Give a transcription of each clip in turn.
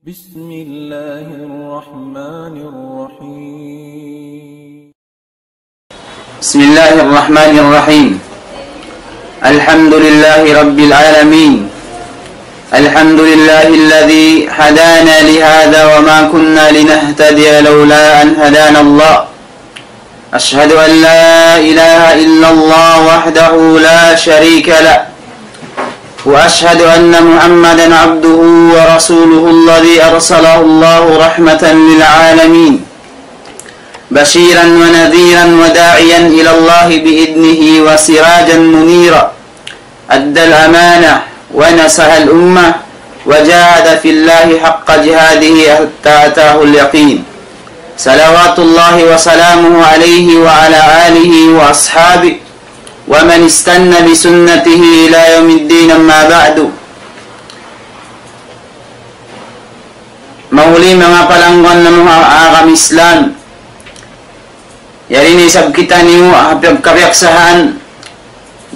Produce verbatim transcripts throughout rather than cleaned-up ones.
بسم الله الرحمن الرحيم. بسم الله الرحمن الرحيم. الحمد لله رب العالمين. الحمد لله الذي هدانا لهذا وما كنا لنهتدي لولا أن هدانا الله. أشهد أن لا إله إلا الله وحده لا شريك له، وأشهد أن محمدا عبده ورسوله الذي أرسله الله رحمة للعالمين، بشيرا ونذيرا وداعيا إلى الله بإذنه وسراجا منيرا، أدى الأمانة ونصح الأمة وجاهد في الله حق جهاده حتى أتاه اليقين. صلوات الله وسلامه عليه وعلى آله وأصحابه ومن استن بسنته إلى يوم الدين، أما بعد. Mahuli manga palangguan namu' ha agama Islam. Yari na isab kitaniyu ha piyag-, kapiyagsahan,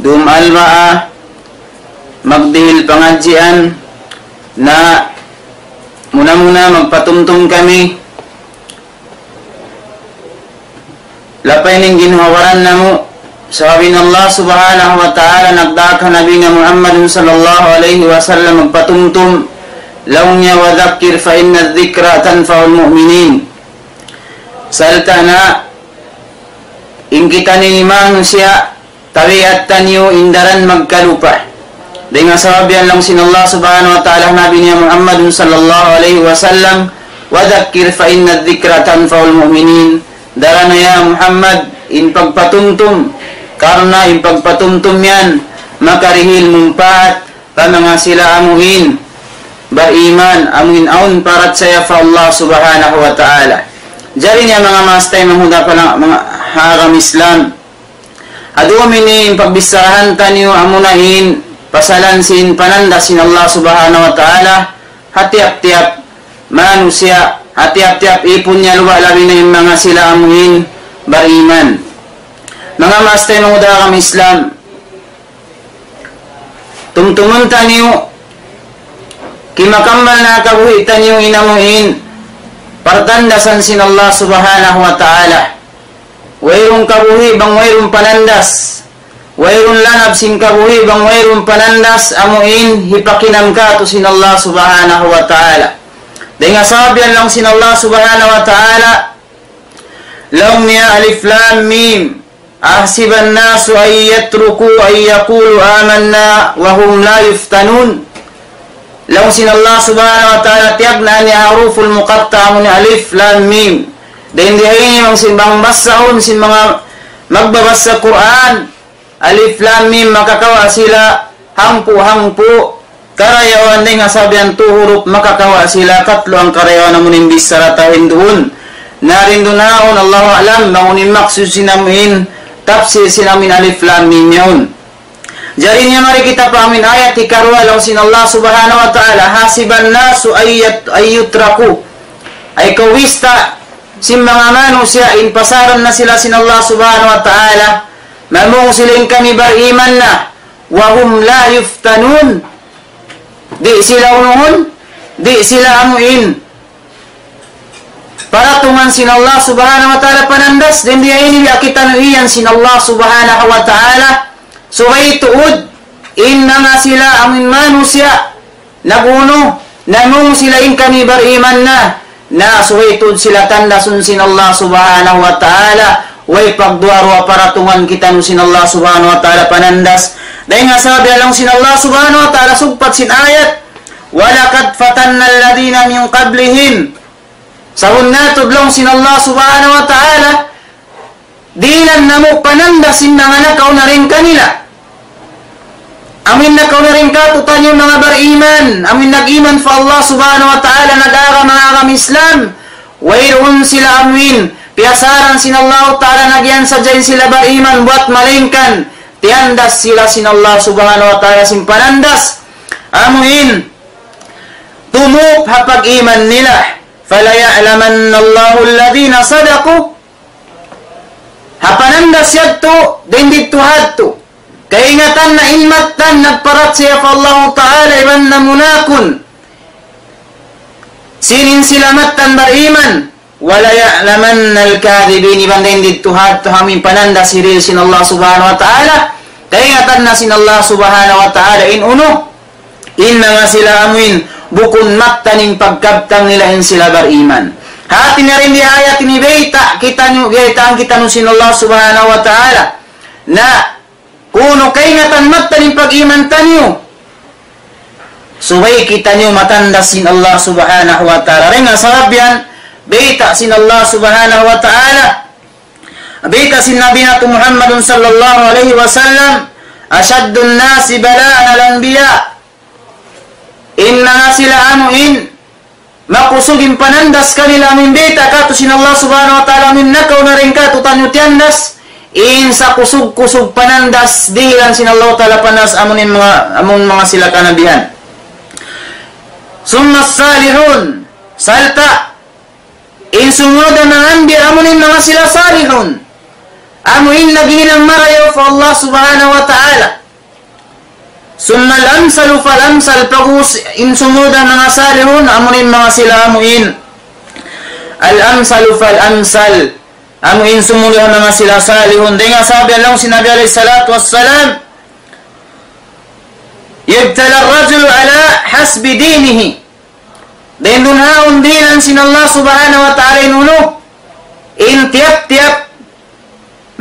dum alwaa, magdihil pangadjian, na muna-muna magpatumtum kami, lapay na in ginhawa-baran namu', sabab in Allah Subhanahu wa Ta'ala nagdaak ha Nabi na Muhammadun sallallahu alayhi wasallam magpatumtum, laung niya, وذكر فإن الذكرى تنفع المؤمنين. Sarta' na in kitaniyu manusiya', tabiat taniyu in daran magkalupa. Dayn ha sabab yan laung sin Allah Subhanahu wa Ta'ala ha Nabi niya Muhammadun sallallahu alayhi wasallam, وذكر فإن الذكرى تنفع المؤمنين. Daran na ya Muhammad in pagpatumtum, karna' in pagpatumtum yan makarihil mumpaat pa manga sila amuin bariman, amuin awn parachaya pa Allah Subhanahu wa Ta'ala. Jari niya manga maas taymanghud ha pala-, manga ha agama Islam. Adumi ini in pagbicharahan taniyu amuna in pasalan sin panandas sin Allah Subhanahu wa Ta'ala ha tiyap-tiyap manusiya', ha tiyap-tiyap ipun niya luba', labi na in manga sila amuin bariman. Manga maas taymanghud ha agama Islam, tumtumun taniyu, kimakammal na kabuhi' taniyu in amuin partandasan sin Allah Subhanahu wa Ta'ala. Wayruun kabuhi' bang wayruun panandas. Wayruun lanab sin kabuhi' bang wayruun panandas, amuin hipakinam kātu' sin Allah Subhanahu wa Ta'ala. Dayn ha sabab yan laung sin Allah Subhanahu wa Ta'ala, laung niya, ألف لام ميم. أحسب الناس أن يتركوا أن يقولوا آمنا وهم لا يفتنون. Laung sin Allah Subhanahu wa Ta'ala, tiyagnaan niya huruful muqatta'a, amu in alif, lam, mim. Dayn di ha ini bang sin bang basahun sin manga magbabasa Qur'an, alif, lam, mim, makakawa' sila hangpu'-hangpu' karayawan dayn ha sabab yan tu huruf makakawa' sila katlu hangkarayawan amu in bichara tau hinduun. Na rindunaun, Allahu a'lam, bang unu in maksud sin amu in tafsir sin amu in alif, lam, mim yaun. Jari niya mari kita pa amu in ayat hikaruwa, laung sin Allah Subhanahu wa Ta'ala, أحسب الناس أن يت-، أن يتركوا. Ay kawista sin manga manusiya' in pasaran na sila sin Allah Subhanahu wa Ta'ala, mamung sila in kami bariman na, وهم لا يفتنون. Di' sila unuhun, di' sila amuin paratungan sin Allah Subhanahu wa Ta'ala panandas, dayn di ha ini biya' kitaniyu iyan sin Allah Subhanahu wa Ta'ala, subay tuud in manga sila amuin manusiya' nag-unu, namung sila in kami bariman na, na subay tuud sila tandasun sin Allah Subhanahu wa Ta'ala, way pagduwa-ruwa paratungan kitaniyu sin Allah Subhanahu wa Ta'ala panandas. Dayn ha sabab yan laung sin Allah Subhanahu wa Ta'ala sugpat sin ayat, ولقد فتنا الذين من قبلهم. Sabunnal tuud laung sin Allah Subhanahu wa Ta'ala, dihilan namu' panandas in manga nakauna dayn kanila. Amuin nakauna dayn kātu'niyu manga bariman, amuin nag-iman pa Allah Subhanahu wa Ta'ala, nag-agama, agama Islam, wayruun sila amuin piyasaran sin Allah Ta'ala, nagiyan sadja in sila bariman, buwat malaingkan tiyandas sila sin Allah Subhanahu wa Ta'ala sin panandas amuin tumup ha pag-iman nila. فليعلمن الله الذين صدقوا. Ha panandas yadtu, dayn didtu ha yadtu, kaingatan na in mattan nagparachaya pa Allahu Ta'ala iban namunakun. sin in sila mattan bariman. وَلَيَعْلَمَنَّ الْكَاذِبِينَ. Iban dayn didtu ha yadtu amu in panandas hirihil sin Allah Subhanahu wa Ta'ala. Kaingatan na sin Allah Subhanahu wa Ta'ala in unu, in manga sila amu in bukun mattan in pagkabtang nila in sila bariman. Hati niya dayn di ha ayat ini bayta' kitaniyu, baytaan kitaniyu sin Allah Subhanahu wa Ta'ala. Na kunu' kaingatan mattan in pag-iman taniyu. Subay kitaniyu matandas sin Allah Subhanahu wa Ta'ala. Dayn ha sabab yan, bayta' sin Allah Subhanahu wa Ta'ala, bayta' sin Nabi natu' Muhammadun sallallahu alayhi wasallam, أَشَدُّ النَّاسِ بَلَاءً الْأَنْبِيَاءُ. In manga sila amu in makusug in panandas kanila amu in bayta' katu' sin Allah Subhanahu wa Ta'ala, amu in nakauna dayn katu' taniyu tiyandas, in sakusug-kusug panandas dihilan sin Allah Ta'ala panandas amu in manga, amu in manga sila kanabihan. ثُمَّ الصَّالِحُونَ. Sarta' in sumud ha manga anbiya amu in manga sila salihun. Amu in naghinang marayaw pa Allah Subhanahu wa Ta'ala. ثُمَّ الْأَمْثَلُ فَالْأَمْثَلُ. Pag'ubus in sumud ha manga salihun, amu in manga sila amu in الْأَمْثَلُ فَالْأَمْثَلُ. Amu in sumud ha manga sila salihun. Dayn ha sabab laung sin Nabi alayhi salatu wassalam, يُبْتَلَى الرَّجُلُ عَلَى حَسَبِ دِينِهِ. Dayn duun ha yaun dihilan sin Allah Subhanahu wa Ta'ala in unu, in tiyap-tiyap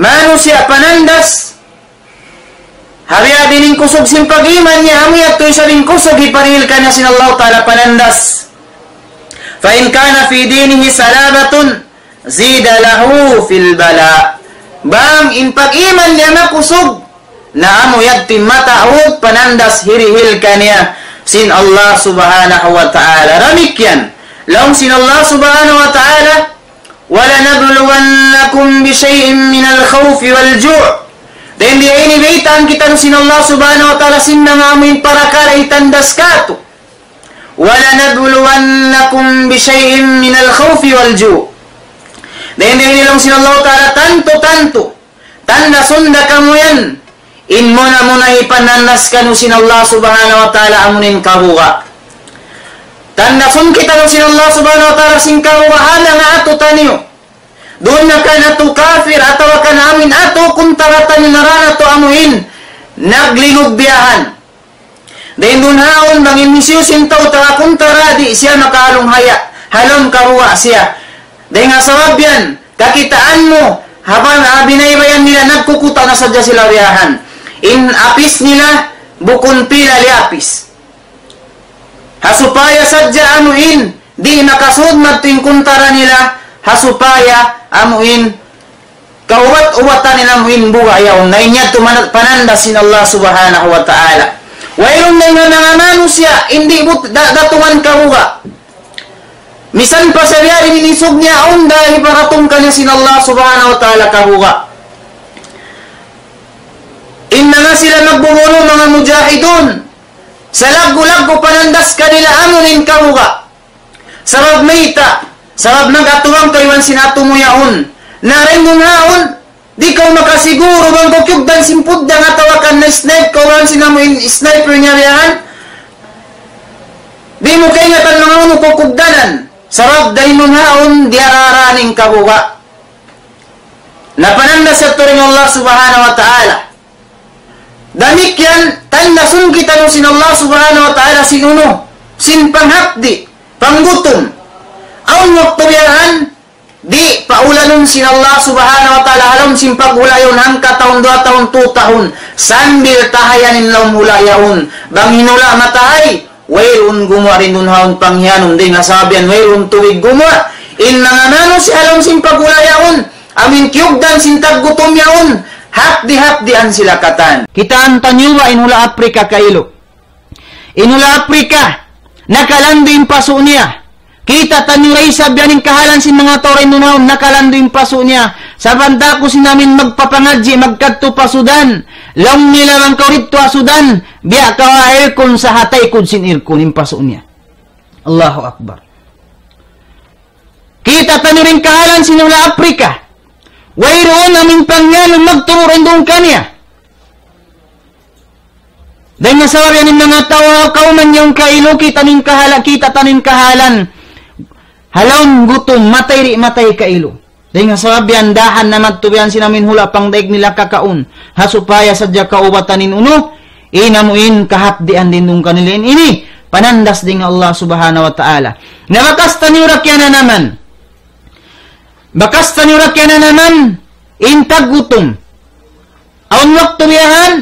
manusiya' panandas, ha biya' diin in kusug sin pag-iman niya, amu yadtu isab in kusug hiparihil kaniya sin Allah Ta'ala panandas. فَإِنْ كَانَ فِي دِينِهِ صَلَابَةٌ زِيدَ لَهُ فِي الْبَلَاءِ. Bang in pag-iman niya makusug, na amu yadtu in mataud panandas hirihil kaniya sin Allah Subhanahu wa Ta'ala. Damikkiyan, laung sin Allah Subhanahu wa Ta'ala, وَلَنَبْلُوَنَّكُمْ بِشَيْءٍ مِنَ الْخَوْفِ وَالْجُوعِ. Dayn di ha ini baytaan kitaniyu sin Allah Subhanahu wa Ta'ala sin manga amu in parakala' hitandas katu'. وَلَنَبْلُوَنَّكُمْ بِشَيْءٍ مِنَ الْخَوْفِ وَالْجُوعِ. Dayn di ha ini laung sin Allah Ta'ala, tantu-tantu tandasun da kamu yan in muna-muna hipanandas kaniyu sin Allah Subhanahu wa Ta'ala amu in kabuga'. Tandasun kitaniyu sin Allah Subhanahu wa Ta'ala sin kabuga' ha manga atu taniyu. Duun na kan atu kafir atawa kan amu in atu kuntara taniyu, nara natu' amu in naglingug biyahan. Dayn duun ha yaun bang in hisiyu-siyu in tau taga kuntara, di' siya makahalunghaya' ha lawm kabuga' siya. Dayn ha sabab yan, kakitaan mu, ha ba-, ha binaybayan nila nagkukuta' na sadja sila biyahan. In apis nila, bukun pila liyapis. Ha supaya sadja amu in, di' makasud madtu in kuntara nila, ha supaya amu in, kaubat-ubatan nila amu in buga' yaun. Na in yadtu mana-, panandas sin Allah Subhanahu wa Ta'ala. Wayruun dayn ha manga manusiya', in di' but-, da-, datungan kabuga'. Misan pa siya biya' diin in isug niya, awn da hiparatung kaniya sin Allah Subhanahu wa Ta'ala kabuga'. In manga sila magbubunu', manga mujahidun, salaggu'-laggu' panandas kanila amu in kabuga'. Sabab mayta', sabab nag-atuwang kaw iban sin atu mu yaun. Na dayn duun ha yaun, di' kaw makasiguru bang kaw kiyugdan sin puddang atawa kan na-snipe kaw iban sin amu in sniper niya biyahan. Di' mu kaingatan bang unu kaw kugdanan. Sabab dayn duun ha yaun diyarā-rā in kabuga'. Na panandas yadtu dayn Allah Subhanahu wa Ta'ala. Damikkiyan, tandasun kitaniyu sin Allah Subhanahu wa Ta'ala sin unu, sin panghapdi', panggutum. Awn waktu biyahan, di' paulanun sin Allah Subhanahu wa Ta'ala ha lawm sin paghula' yaun hangka tahun, duwa tahun, tu tahun, sambil tahayan in lawm hula' yaun. Bang in hula' matahay, wayruun gumuwa' dayn duun ha yaun panghiyanum, dayn ha sabab yan wayruun tubig gumuwa'. In manga manusiya' ha lawm sin paghula' yaun, amu in kiyugdan sin taggutum yaun, hapdi'-hapdian sila katan. Kitaan taniyu ba in hula' Aprika kailu? In hula' Aprika, nakalandu' in pasu' niya. Kita' taniyu da isab yan in kahalan sin manga tau dayn duun ha yaun, nakalandu' in pasu' niya. Sabanta aku sin amin magpapangadji', magkadtu pa Sudan. Laung nila bang kaw didtu ha Sudan, biya' kaw ha aircon sa ha taykud sin aircon in pasu' niya. Allahu Akbar. Kita' taniyu da in kahalan sin hula' Aprika. Wayruun amin panghiyanum magturu' dayn duun kaniya. Dayn ha sabab yan in manga tau kawman yaun kailu, kita' taniyu in kahala-, kita' taniyu in kahalan. ha lawm gutum, matay di' matay kailu. Dayn ha sabab yan dahan na madtu bihan sin amuin hula' pangdaig nila kakaun. Ha supaya sadja kaubatan in unu, in amuin kahapdian dayn duun kanila in ini. Panandas dayn ha Allah Subhanahu wa Ta'ala. Na bakas taniyu ra kiyananaman. Bakas taniyu ra kiyananaman, in taggutum. Awn waktu biyahan,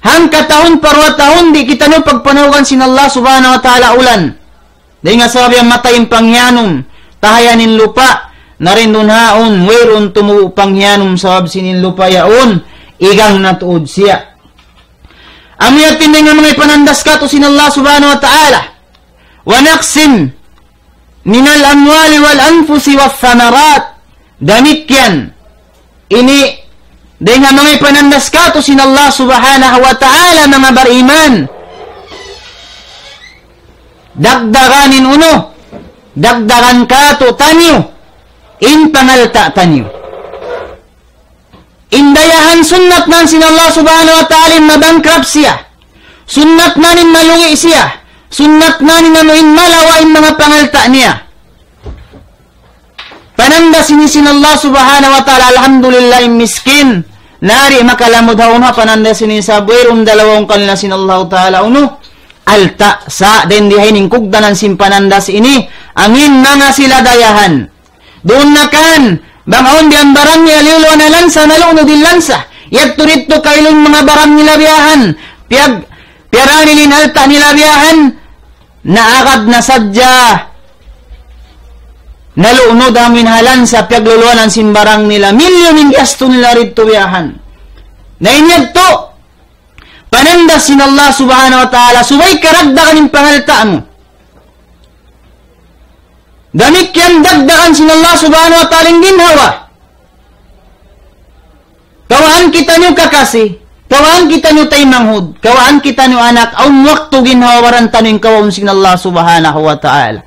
hangka tahun pa duwa tahun, di' kitaniyu pagpanahugan sin Allah Subhanahu wa Ta'ala ulan. Dayn ha sabab yan matay in panghiyanum, tahayan in lupa', na dayn duun ha yaun, wayruun tumubu' panghiyanum sabab sin in lupa' yaun, igang na tuud siya. Amu yadtu in dayn ha manga ipanandas kātu' sin Allah Subhanahu wa Ta'ala. ونقص من الأموال والأنفس والثمرات. Damikkiyan. Ini, dayn ha manga ipanandas kātu' sin Allah Subhanahu wa Ta'ala, manga bariman. Dagdagan in unu, dagdagan kātu'niyu, in pangalta' taniyu. In dayahan sunnat na sin Allah Subhanahu wa Ta'ala in ma-bankrupt siya. Sunnat na in malugi' siya. Sunnat na in anu in malawa' in manga pangalta' niya. Panandas ini sin Allah Subhanahu wa Ta'ala, alhamdulillah, in miskin. Na di' makalamud ha unu ha panandas ini sabab wayruun dalawa kanila sin Allah Ta'ala unu. Alta' sa' dayn di ha ini in kugdanan sin panandas ini. Amuin manga sila dayahan. Duun na kan, bang awn biya' barang nila liyuluan ha lansa, nalunud in lansa. Yadtu didtu kailu in manga barang nila biyahan. Piyag-, piyarani in alta' nila biyahan. Naagad na sadja. Nalunud amuin ha lansa, piyagluluanan sin barang nila. Milyun in gastu nila didtu biyahan. Na in yadtu, panandas sin Allah Subhanahu wa Ta'ala, subay karagdagan in pangalta' mu. Damikkiyan dagdagan sin Allah Subhanahu wa Ta'ala in ginhawa. Kawaan kitaniyu kakasi, kawaan kitaniyu taymanghud, kawaan kitaniyu anak, awn waktu ginhawa-baran taniyu in kawaun sin Allah Subhanahu wa Ta'ala.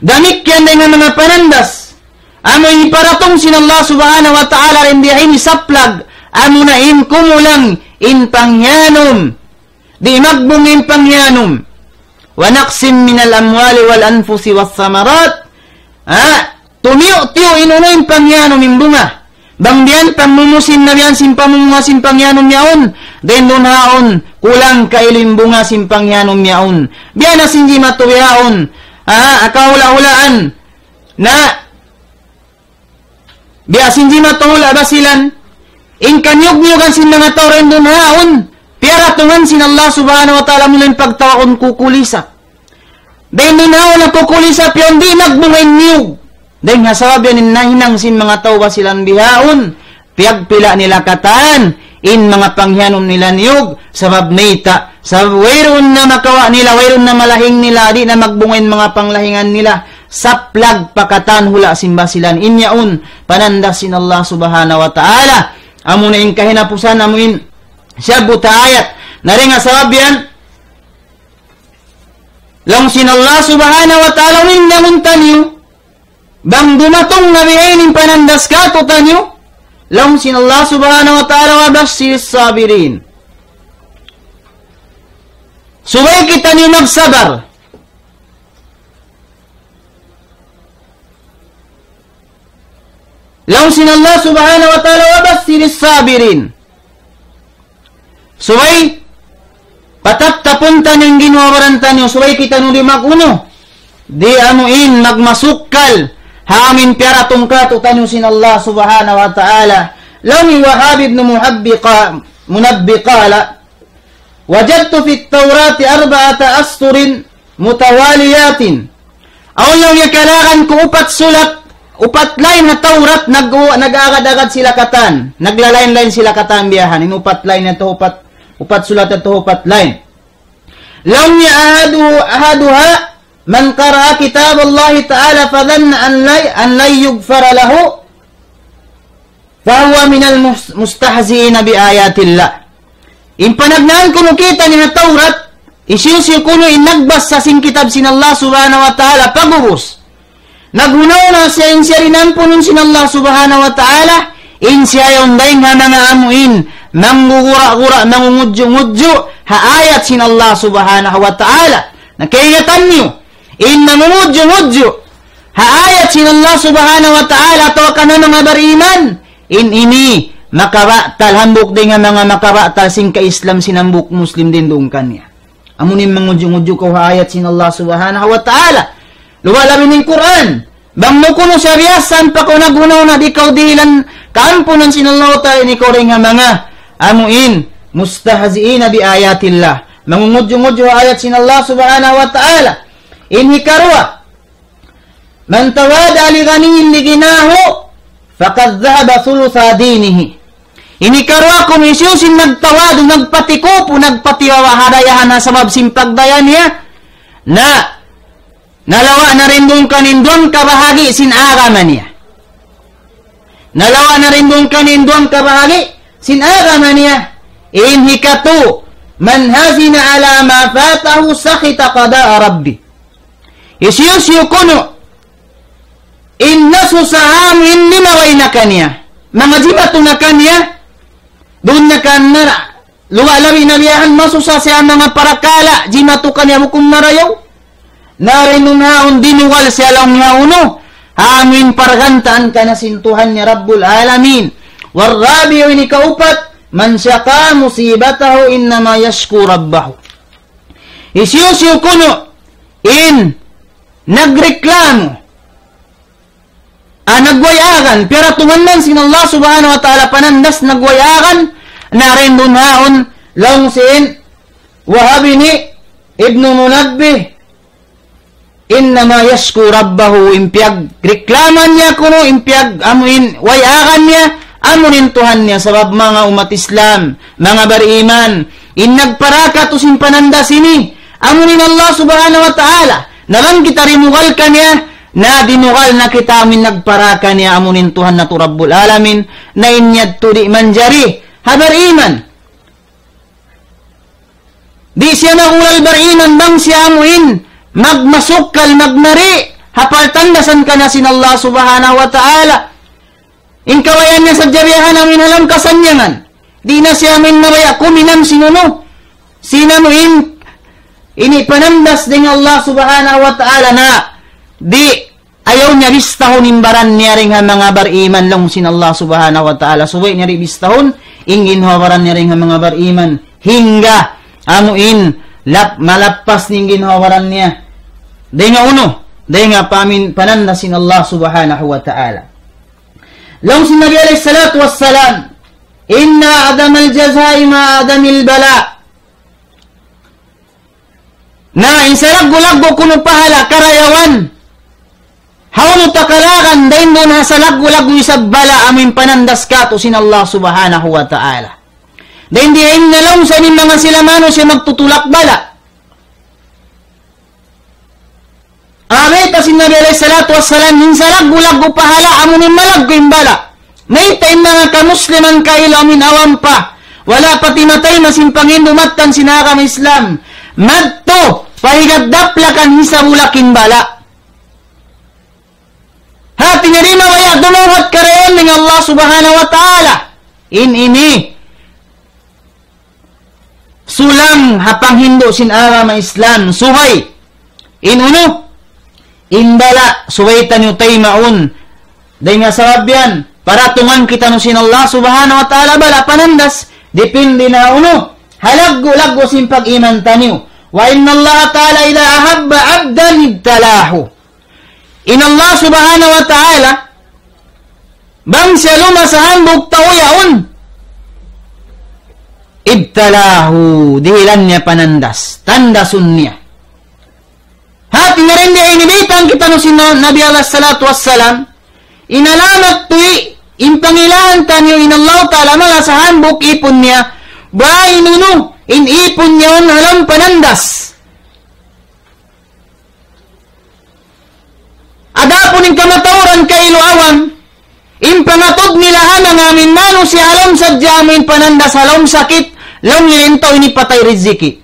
Damikkiyan dayn ha manga panandas, amu in hiparatung sin Allah Subhanahu wa Ta'ala dayn di ha ini saplag, amuna in kumulang in panghiyanum. Di' magbunga in panghiyanum. ونقص من الأموال والأنفس والثمرات. Ha? Tumiyu'-tiyu' in unu in panghiyanum in bunga. Bang biya' pagmumusim na biya' sin pamumunga sin panghiyanum yaun. Dayn duun ha yaun, kulang kailu in bunga sin panghiyanum yaun. Biya' na sin jimatu yaun. Ha? Kahula'-hulaan. Na Biya' sin jimatu hula' Basilan, in kaniyug-niyugan sin manga tau dayn duun ha yaun, piyaratungan sin Allah Subhanahu wa Ta'ala muna in pagtawagun kukulisap. Dayn duun ha yaun kukulisap yaun, di' magbunga in niyug. Dayn ha sabab yan in nahinang sin manga tau Basilan bihaun, piyagpila' nila katan, in manga panghiyanum nila niyug, sabab mayta', sabab wayruun na makawa' nila, wayruun na malahing nila, di' na magbunga in manga panglahingan nila, saplag pa katan hula' sin Basilan. In yaun, panandas sin Allah Subhanahu wa Ta'ala. Amuna in kahinapusan, amu in siyabut ha ayat. Na dayn ha sabab yan, laung sin Allah Subhanahu wa Ta'ala, umindangun taniyu, bang dumatung na bihaini in panandas kātu'niyu, laung sin Allah Subhanahu wa Ta'ala, وبشر الصابرين. Subay kitaniyu magsabar. Laung sin Allah Subhanahu wa Ta'ala, وبشر الصابرين. Subay, pataptapun taniyu in ginhawa-baran taniyu, subay kitaniyu di' mag-unu. Di' amu in magmasukkal, ha amu in piyaratung kātu'niyu sin Allah Subhanahu wa Ta'ala. Laung hi Wahab ibn Muhabbi qa-, Munabbi qala, وجدت في التوراة أربعة أسطر متواليات. Awn laung niya kalagan ku upat sulat, upat line ha Tawrat, nag-, nag-agad-agad sila katan. Nagla-line-line sila katan biyahan. In upat line yadtu, upat, upat sulat yadtu, upat line. Laung niya أحد-, أحدها من قرأ كتاب الله تعالى فظن أن لن، أن لن يغفر له فهو من المستهزئين بآيات الله. In panagnaan kunu' kita' niya Tawrat, hisiyu-siyu kunu' in nagbasa sin kitab sin Allah Subhanahu wa Ta'ala pag'ubus. Naghunaw na siya in siya di' ampunun sin Allah Subhanahu wa Ta'ala, in siya yaun dayn ha manga amu in, manggugura-gura, mangungudju'-ngudju', ha ayat sin Allah Subhanahu wa Ta'ala. Na kaingatan niyu, in mangungudju-ngudju ha ayat sin Allah Subhanahu wa Ta'ala atawa kan manga bariman, in ini makabatal, hambuuk dayn ha manga makabatal sin ka-Islam sin hambuuk Muslim dayn duun kaniya. Amu in mangudju-ngudju kaw ha ayat sin Allah Subhanahu wa Ta'ala. Luwal labi in Qur'an. Bang mu kunu' siya biya' san pa kaw nag-una-una, di' kaw dihilan kaampunan sin Allah Ta'ala, in ikaw dayn ha manga amu in mustahzi'ina bi ayatillah. Mangungudju-ngudju ha ayat sin Allah Subhanahu wa Ta'ala. In hikaruwa, من تواضع لغني لغناه فقد ذهب ثلث دينه. In hikaruwa kunu' hisiyu-siyu in nagtawadu', nagpatikupu, nagpatiwawa' ha dayahan ha sabab sin pagdaya niya, na nalawa' na dayn duun kaniya in duwang kabahagi' sin agama niya. Nalawa' na dayn duun kaniya in duwang kabahagi' sin agama niya. In hikatu, من حزن على ما فاته سخط قضاء ربه. Hisiyu-siyu kunu' in nasusa ha amu in limabay na kaniya, manga jimatu na kaniya, duun na kaniya, luwal labi na biya' yan masusa siya manga parakala', jimatu kaniya bukun marayaw. Na dayn duun ha yaun dinugal siya laung niya unu, ha amu in pargantaan kaniya sin Tuhan niya Rabbul Alamin. والرابع, in hikaupat, من شكا مصيبته إنما يشكو ربه. Hisiyu-siyu kunu' in nagreklamo, ah, nagway-agan, piyaratungan man sin Allah Subhanahu wa Ta'ala panandas, nagway-agan, na dayn duun ha yaun laung sin Wahab ini Ibnu Munabbih, إنما يشكو ربه, in piyagreklaman niya kunu', in piyag-, amu in way-agan niya, amu in Tuhan niya, sabab manga ummat Islam, manga bariman, in nagpara katu' sin panandas ini, amu in Allah Subhanahu wa Ta'ala. Na bang kita dinugal kaniya, na dinugal na kita amu in nagpara kaniya, amu in Tuhan natu' Rabbul Alamin, na in yadtu di' manjari ha bariman. Di' siya mahulal bariman bang siya amu in magmasukkal, magmari ha partandasan kaniya sin Allah Subhanahu wa Ta'ala. In kabayaan niya sadja biya' ha yan amu in ha lawm kasannyangan. Di' na siya amu in mabaya' kuminam sin unu, sin amu in ini panandas dayn ha Allah Subhanahu wa Ta'ala, na di' ayaw niya bistahun in baran niya dayn ha manga bariman laung sin Allah Subhanahu wa Ta'ala. Subay niya di' bistahun in ginhawa-baran niya dayn ha manga bariman. Hangga amu in lap-, malappas in ginhawa-baran niya dayn ha unu, dayn ha pamin-, panandas sin Allah Subhanahu wa Ta'ala. Laung sin Nabi alayhi salatu wassalam, إن أعظم الجزاء مع عظم البلاء. Na in salaggu'-laggu' kunu' pahala' karayawan, hawnu takalagan dayn duun ha salaggu'-laggu' isab bala' amu in panandas katu' sin Allah Subhanahu wa Ta'ala. Dayn di ha in nalaung sa in manga sila manusiya' magtutulak bala'. Amu in bayta' sin Nabi alayhi salatu wassalam, in salaggu'-laggu' pahala' amu in malaggu' in bala'. Mayta' in manga kamusliman kailu amu in awam pa, wala' pa timatayma' sin panghindu' mattan sin agama Islam, madtu pa higad daplakan hisab ulak in bala'. Hati niya di' mabaya' dumuhat karayawan dayn ha Allah Subhanahu wa Ta'ala. In ini sulang ha panghindu' sin agama Islam, subay in unu, in bala', subay taniyu taymaun. Dayn ha sabab yan, paratungan kitaniyu sin Allah Subhanahu wa Ta'ala bala' panandas, dipindi na unu, ha laggu'-laggu' sin pag-iman taniyu. وإن الله تعالى إذا أحب عبدا ابتلاه. In Allah Subhanahu wa Ta'ala, bang siya lumasa hambuuk tau yaun, ابتلاه, dihilan niya panandas, tandasun niya. Hati niya dayn di ini baytaan kitaniyu sin Nabi alayhi salatu wassalam, in alamat tuud, in pangilahan taniyu in Allah Ta'ala malasa hambuuk ipun niya, bang in unu, in ipun niya yaun ha lawm panandas. Adapun in kamatauran kailu awam, in pangatud nila ha manga amu in manusiya' ha lawm sadja amu in panandas ha lawm sakit, laung nila in tau ini patay riziki.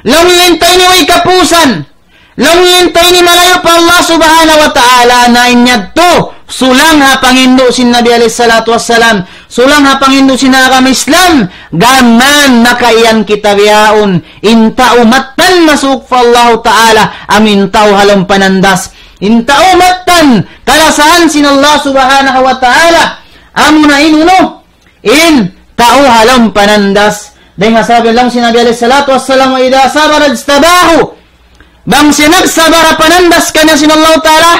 Laung nila in tau ini way kapusan. Laung nila in tau ini malayu' pa Allah Subhanahu wa Ta'ala, na in yadtu, sulang ha panghindu' sin Nabi alayhi salatu wassalam, sulang ha panghindu' sin agama Islam, gām makaiyan kita bihaun, in tau mattan masuuk pa Allahu Ta'ala, amu in tau ha lawm panandas. In tau mattan kalasahan sin Allah Subhanahu wa Ta'ala, amuna in unu, in tau ha lawm panandas. Dayn ha sabab laung sin Nabi alayhi salatu wassalam, وإذا صبر اجتباه. Bang siya nagsabar ha panandas kaniya sin Allah Ta'ala,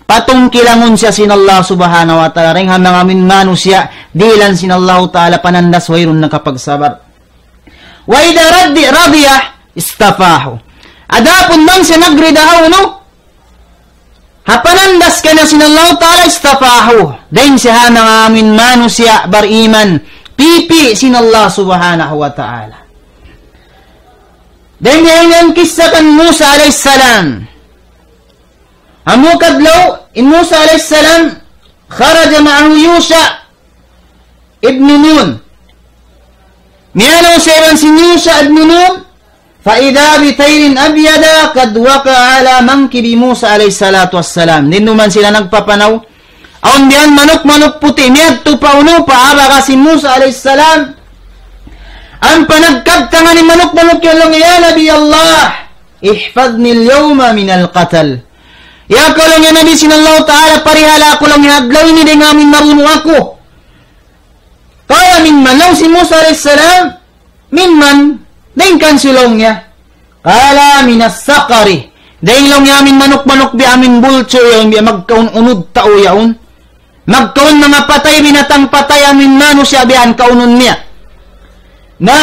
patungkilangun siya sin Allah Subhanahu wa Ta'ala. Dayn ha manga amuin manusiya', dihilan sin Allah Ta'ala panandas wayruun nakapagsabar. وإذا رضي, رضي اصطفاه. Adapun bang siya nagrida ha unu, ha panandas kaniya sin Allah Ta'ala, اصطفاه. Dayn siya ha manga amuin manusiya' bariman, pipi' sin Allah Subhanahu wa Ta'ala. Dayn ha ini in kissa kan Musa alayhi salam. Amu kadlaw, in Musa alayhi salam, خرج معه يوشع ابن نون. Miyalaw siya iban sin Yusha ibn Nun, فإذا بطير أبيض قد وقع على منكب موسى عليه الصلاة والسلام. Dinuman sila nagpapanaw. Awn biya' manuk-manuk puti', miyadtu pa unu, pa abaga sin Musa alayhi salam. Ampa nagkabtangan in manuk-manuk yan laung, يا نبي الله، احفظني اليوم من القتل. Ya kaw laung niya Nabi sin Allah Ta'ala, parihala aku laung niya adlaw ini dayn ha amuin mabunu' aku. قال ممن؟ Laung sin Musa alayhi salam, ممن؟ Dayn kansi' laung niya. قال من الصقر. Dayn laung niya amuin manuk-manuk biya' amuin bulcu yaun, biya' magkaun unud tau yaun. Magkaun manga patay, binatang patay, amuin manusiya' biya' yan kaunun niya. Na,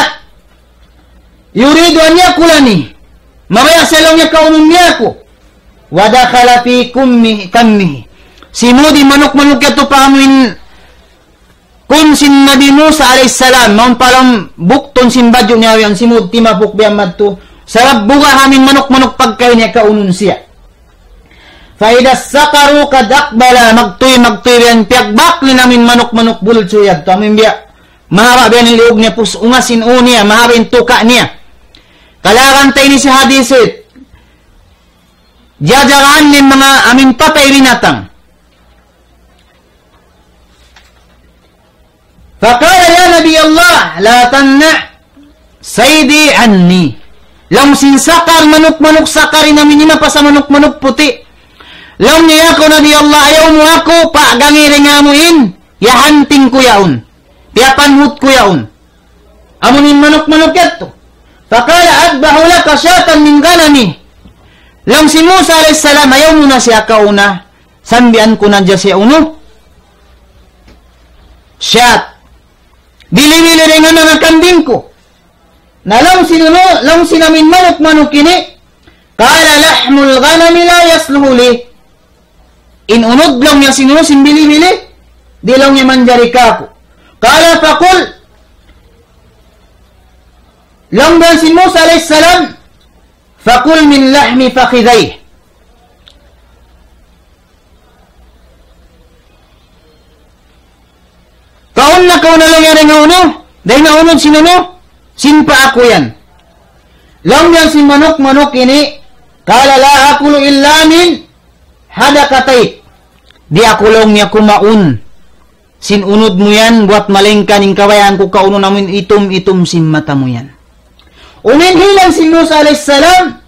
يريد أن يأكلني. Mabaya' siya laung niya kaunun niya aku. ودخل في كمه، كمه. Simud in manuk-manuk yadtu pa amuin kum sin Nabi Musa alayhi salam, mawn pa lawm buktun sin badju' niya yan, simud timapuk biya' madtu. Sabab buga' ha amuin manuk-manuk pagkahi niya kaunun siya. فإذا الصقر قد أقبل، magtuy, magtuy biya' yan, piyagbak na in amuin manuk-manuk bulcu yadtu, amuin biya' mahaba' biya' yan in liug niya, pus ungas in ū niya, mahaba' in tuka' niya. Kalagan ta ini sin hadith, jajagaan niya in manga amuin patay binatang. فقال يا نبي الله لا تمنع صيدي عني. Laung sin saqar, manuk-manuk saqar in amuin himapasa manuk-manuk puti'. Laung niya, ya kaw Nabi Allah, ayaw mu aku pagangi dayn ha amuin, ya hunting ku yaun. Piyapanhut ku yaun. Amuin manuk-manuk yadtu. فقال أذبح لك شاة من غنمي. Laung sin Musa alayhi salam, ayaw mu na siya kauna. Sambian ku na hadja siya unu. Shat. Bili-bili dayn ha manga kambing ku. Na laung sin unu, laung sin amuin manuk-manuk ini, قال لحم الغنم لا يصلح لي. In unud laung niya sin unu, sin bili-bili, di' laung niya manjari kāku'. قال فكل. Laung dayn sin Musa alayhi salam, فكل من لحم فخذيه. Kaun na kaw na laung niya dayn ha unu, dayn ha unud sin unu, sin paa ku yan. Laung niya sin manuk-manuk ini, قال لا آكل إلا من حدقتيك. Di' aku laung niya kumaun sin unud mu yan, buwat malaingkan in kabayaan ku kaunun amuin itum-itum sin mata mu yan. Unu in hilan sin Musa alayhi salam,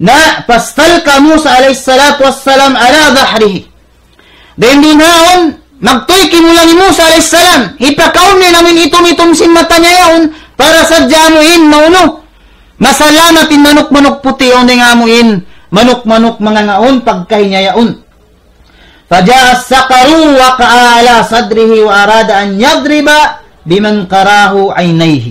na فاستلقى موسى عليه الصلاة والسلام على ظهره. Dayn duun haun, magtuy kimulang hi Musa alayhi salam, hipakaun niya in amuin itum-itum sin mata niya yaun, para sadja amuin maunu, masalamat in manuk-manuk puti' yaun dayn ha amuin manuk-manuk mangangaun pagkahi niya yaun. فجاء الصقر ووقع على صدره وأراد أن يضرب بمنقراه عينيه.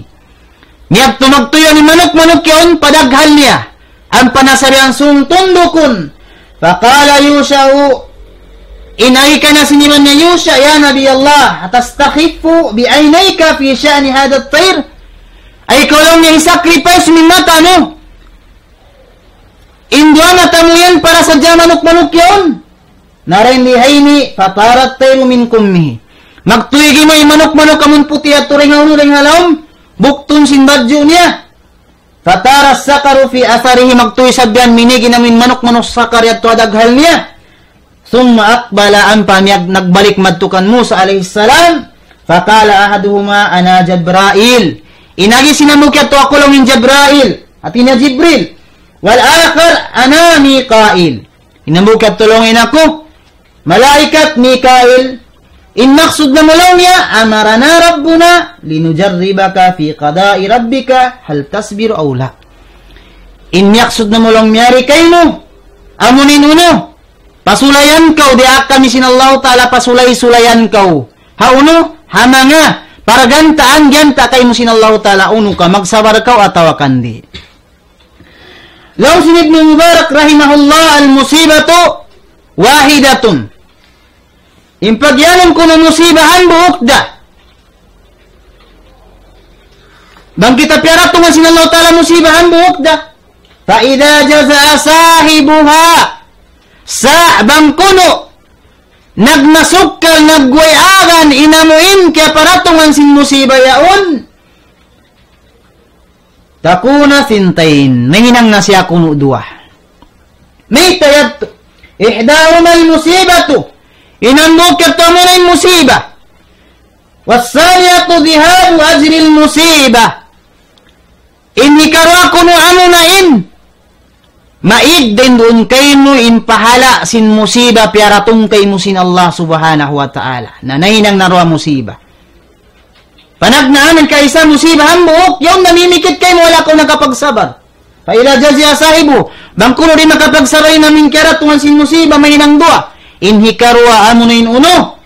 Miyadtu magtuy in manuk-manuk yaun pa daghal niya. Ampa na sariang sung tundukun. فقال يوشع, in agi kaniya sin iban niya Yusha, يا نبي الله، أتستخف بعينيك في شأن هذا الطير؟ Ay kaw laung niya hi-sacrifice mu in mata mu, in duwa mata mu yan para sadja manuk-manuk yaun? Na dayn di ha ini, فطار الطير من كمه. Magtuy gimuy manuk-manuk amun puti' yadtu dayn ha unu, dayn ha lawm buktun sin badju' niya. فطار الصقر في أثره, magtuy sabyan minīg in amuin manuk-manuk saqar yadtu ha daghal niya. ثم أقبل, ampa miyag-, nagbalik madtu kan Musa alayhi salam. فقال أحدهما: أنا جبرائيل. In agi sin hambuuk yadtu, "Aku laung in Jabrail." Hāti niya Jibril. والآخر: أنا ميكائيل. In hambuuk yadtu laung niya, "Aku malaikat Mikail." In maksud na mu laung niya, "أمرنا ربنا لنجربك في قضاء ربك هل تصبر أو لا." In maksud na mu laung niya, "Yari kaymu, amu in unu, pasulayan kaw, diyaak kami sin Allahu Ta'ala pasulay-sulayan kaw. Ha unu, ha manga paragantaan giyanta' kaymu sin Allahu Ta'ala, unu ka, magsabar kaw atawa kan di'." Laung sin Ibnu Mubarak rahimahullah, المصيبة واحدة. In pagiyanun kunu' musiba hambuuk da. Bang kita piyaratungan sin Allahu Ta'ala musiba hambuuk da. فإذا جزع صاحبها. Sa' bang kunu' nagmasukkal, nagway agan, in amu in kiyaparatungan sin musiba yaun, تكون ثنتين. Mahinang na siya kunu' duwa. Mayta' yadtu? إحداهما المصيبة. In hambuuk yadtu amuna in musiba. والثانية ذهاب أجر المصيبة. In hikaruwa kunu' amuna in maig dayn duun kaymu in pahala' sin musiba piyaratung kaymu sin Allah Subhanahu wa Ta'ala. Na nahinang na duwa musiba. Panagnaan in kaisa musiba hambuuk, yaun namimikit kaymu wala' kaw nakapagsabar. فإذا جزع صاحبها. Bang kunu' di' makapagsabar in amu in kiyaratungan sin musiba, mahinang duwa. In hikaruwa amuna in unu,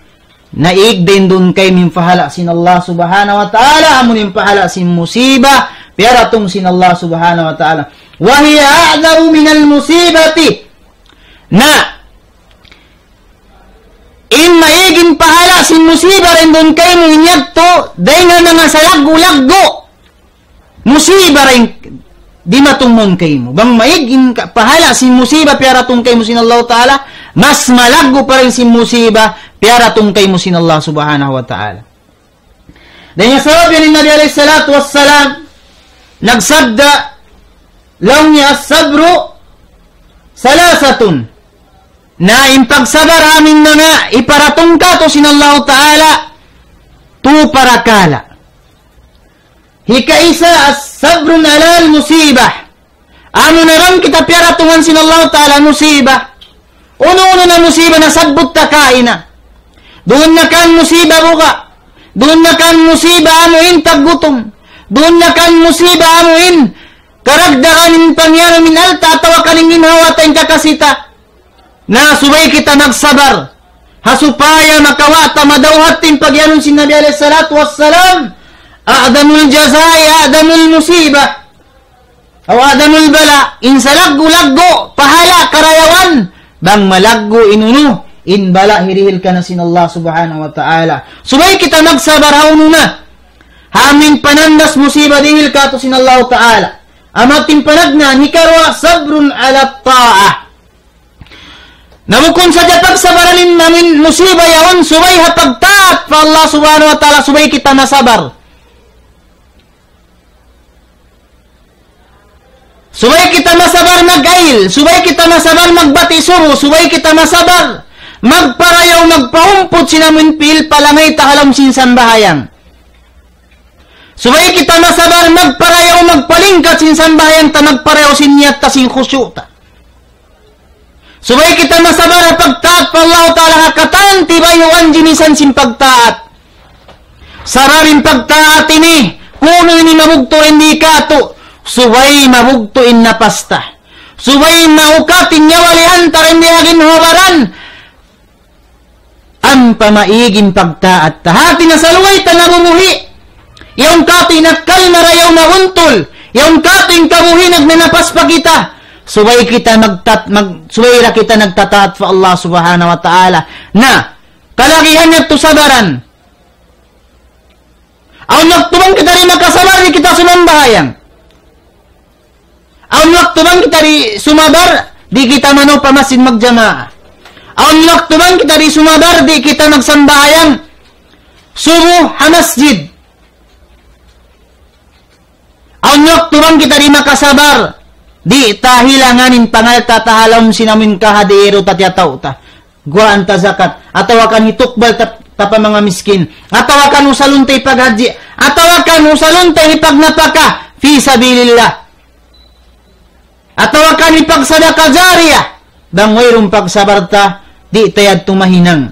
naig dayn duun kaymu in pahala' sin Allah Subhanahu wa Ta'ala, amu in pahala' sin musiba piyaratung sin Allah Subhanahu wa Ta'ala. وهي أعظم من المصيبة. Na in maig in pahala' sin musiba dayn duun kaymu in yadtu, dayn ha manga salaggu'-laggu' musiba dayn dimatung mawn kaymu. Bang maig in ka-, pahala' sin musiba piyaratung kaymu sin Allahu Ta'ala, mas malaggu' pa dayn sin musiba piyaratung kaymu sin Allah Subhanahu wa Ta'ala. Dayn ha sabab yan in Nabi alayhi salatu wassalam nagsabda, laung niya, الصبر ثلاثة. Na in pagsabar amu in manga iparatung kātu' sin Allahu Ta'ala, tu parakala'. Hikaisa, الصبر على المصيبة. Amu na bang kita piyaratungan sin Allahu Ta'ala musiba. Unu-unu na musiba nasabbut ta kaina. Duun na kan musiba buga'. Duun na kan musiba amu in taggutum. Duun na kan musiba amu in karagdagan in pangiyanun in alta' atawa kan in ginhawa ta in kakasi ta. Na subay kita magsabar. Ha supaya makawa' ta madawhat in pagiyanun sin Nabi alayhi salatu wassalam, أعظم الجزاء أعظم المصيبة. أو أعظم البلاء. In salaggu'-laggu' pahala' karayawan, bang malaggu' in unu, in bala' hirihil kaniya sin Allah Subhanahu wa Ta'ala. Subay kita magsabar ha unu na. Ha amu in panandas musiba dihil kātu' sin Allah Ta'ala. Amu in panagnaan, hikaruwa, صبر على الطاعة. Na bukun sadja pagsabaran in amu in musiba yaun, subay ha pagtaat pa Allah Subhanahu wa Ta'ala, subay kita masabar. Subay kita masabar mag-ayil, subay kita masabar magbati' subu, subay kita masabar magparayaw, magpahumput sin amu in pi'il palangay ta ha lawm sin sambahayang. Subay kita masabar magparayaw, magpalingkat sin sambahayang ta, magparayaw sin niyat ta, sin khusyu' ta. Subay kita masabar ha pagtaat pa Allah Ta'ala ha katan tibayuan jinisan sin pagtaat. Sabab in pagtaat ini, kunu' ini mabugtu' in di' kātu', subay mabugtu' in napas ta. Subay maukat in nyawa-lihan ta dayn di ha ginhawa-baran. Ampa maig in pagtaat ta. Hati niya salugay ta nabubuhi'. Yaun kātu' in akkal marayaw mabuntul. Yaun kātu' in kabuhi' nagnanapas pa kita. Subay kita nagtat-, mag-, subay da kita nagtataat pa Allah Subhanahu wa Ta'ala. Na, kalagihan niya tu sabaran. Awn waktu bang kita di' makasabar, di' kita sumambahayang. Awn waktu bang kita di' sumabar, di' kita manu pa masjid magjamaa. Awn waktu bang kita di' sumabar, di' kita magsambahayang subu ha masjid. Awn waktu bang kita di' makasabar, di' ta hilangan in pangalta' ta ha lawm sin amu in kahadiru ta tiyatau ta. Guwaan ta zakat, atawa kan hitukbal ta, pa manga miskin. Atawa kan usalun ta hipaghajji. Atawa kan usalun ta hipagnapaka fi sabilillah. Atawa kan hipagsadaka jariyah. Bang wayruun pagsabar ta, di' ta yadtu mahinang.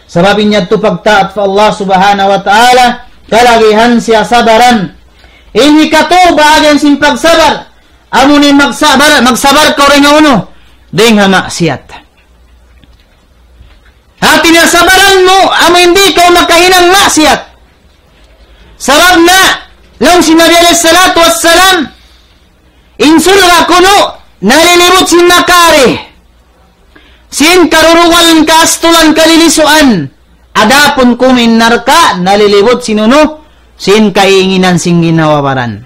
Sabab in yadtu pagtaat pa Allah Subhanahu wa Ta'ala, kalagihan siya sabaran. In hikatu bahagian sin pagsabar, amu in magsabar, magsabar kaw dayn ha unu, dayn ha maksiyat. Hati niya sabaran mu, amu in di' kaw makahinang maksiyat. Sabab na, laung sin Nabi alayhi salatu wassalam, in surga' kunu', nalilibut sin makari, sin karurungalan, kaastulan, kalilisuan. Adapun kunu' in narka', nalilibut sin unu, sin kaiinginan sin ginhawa-baran.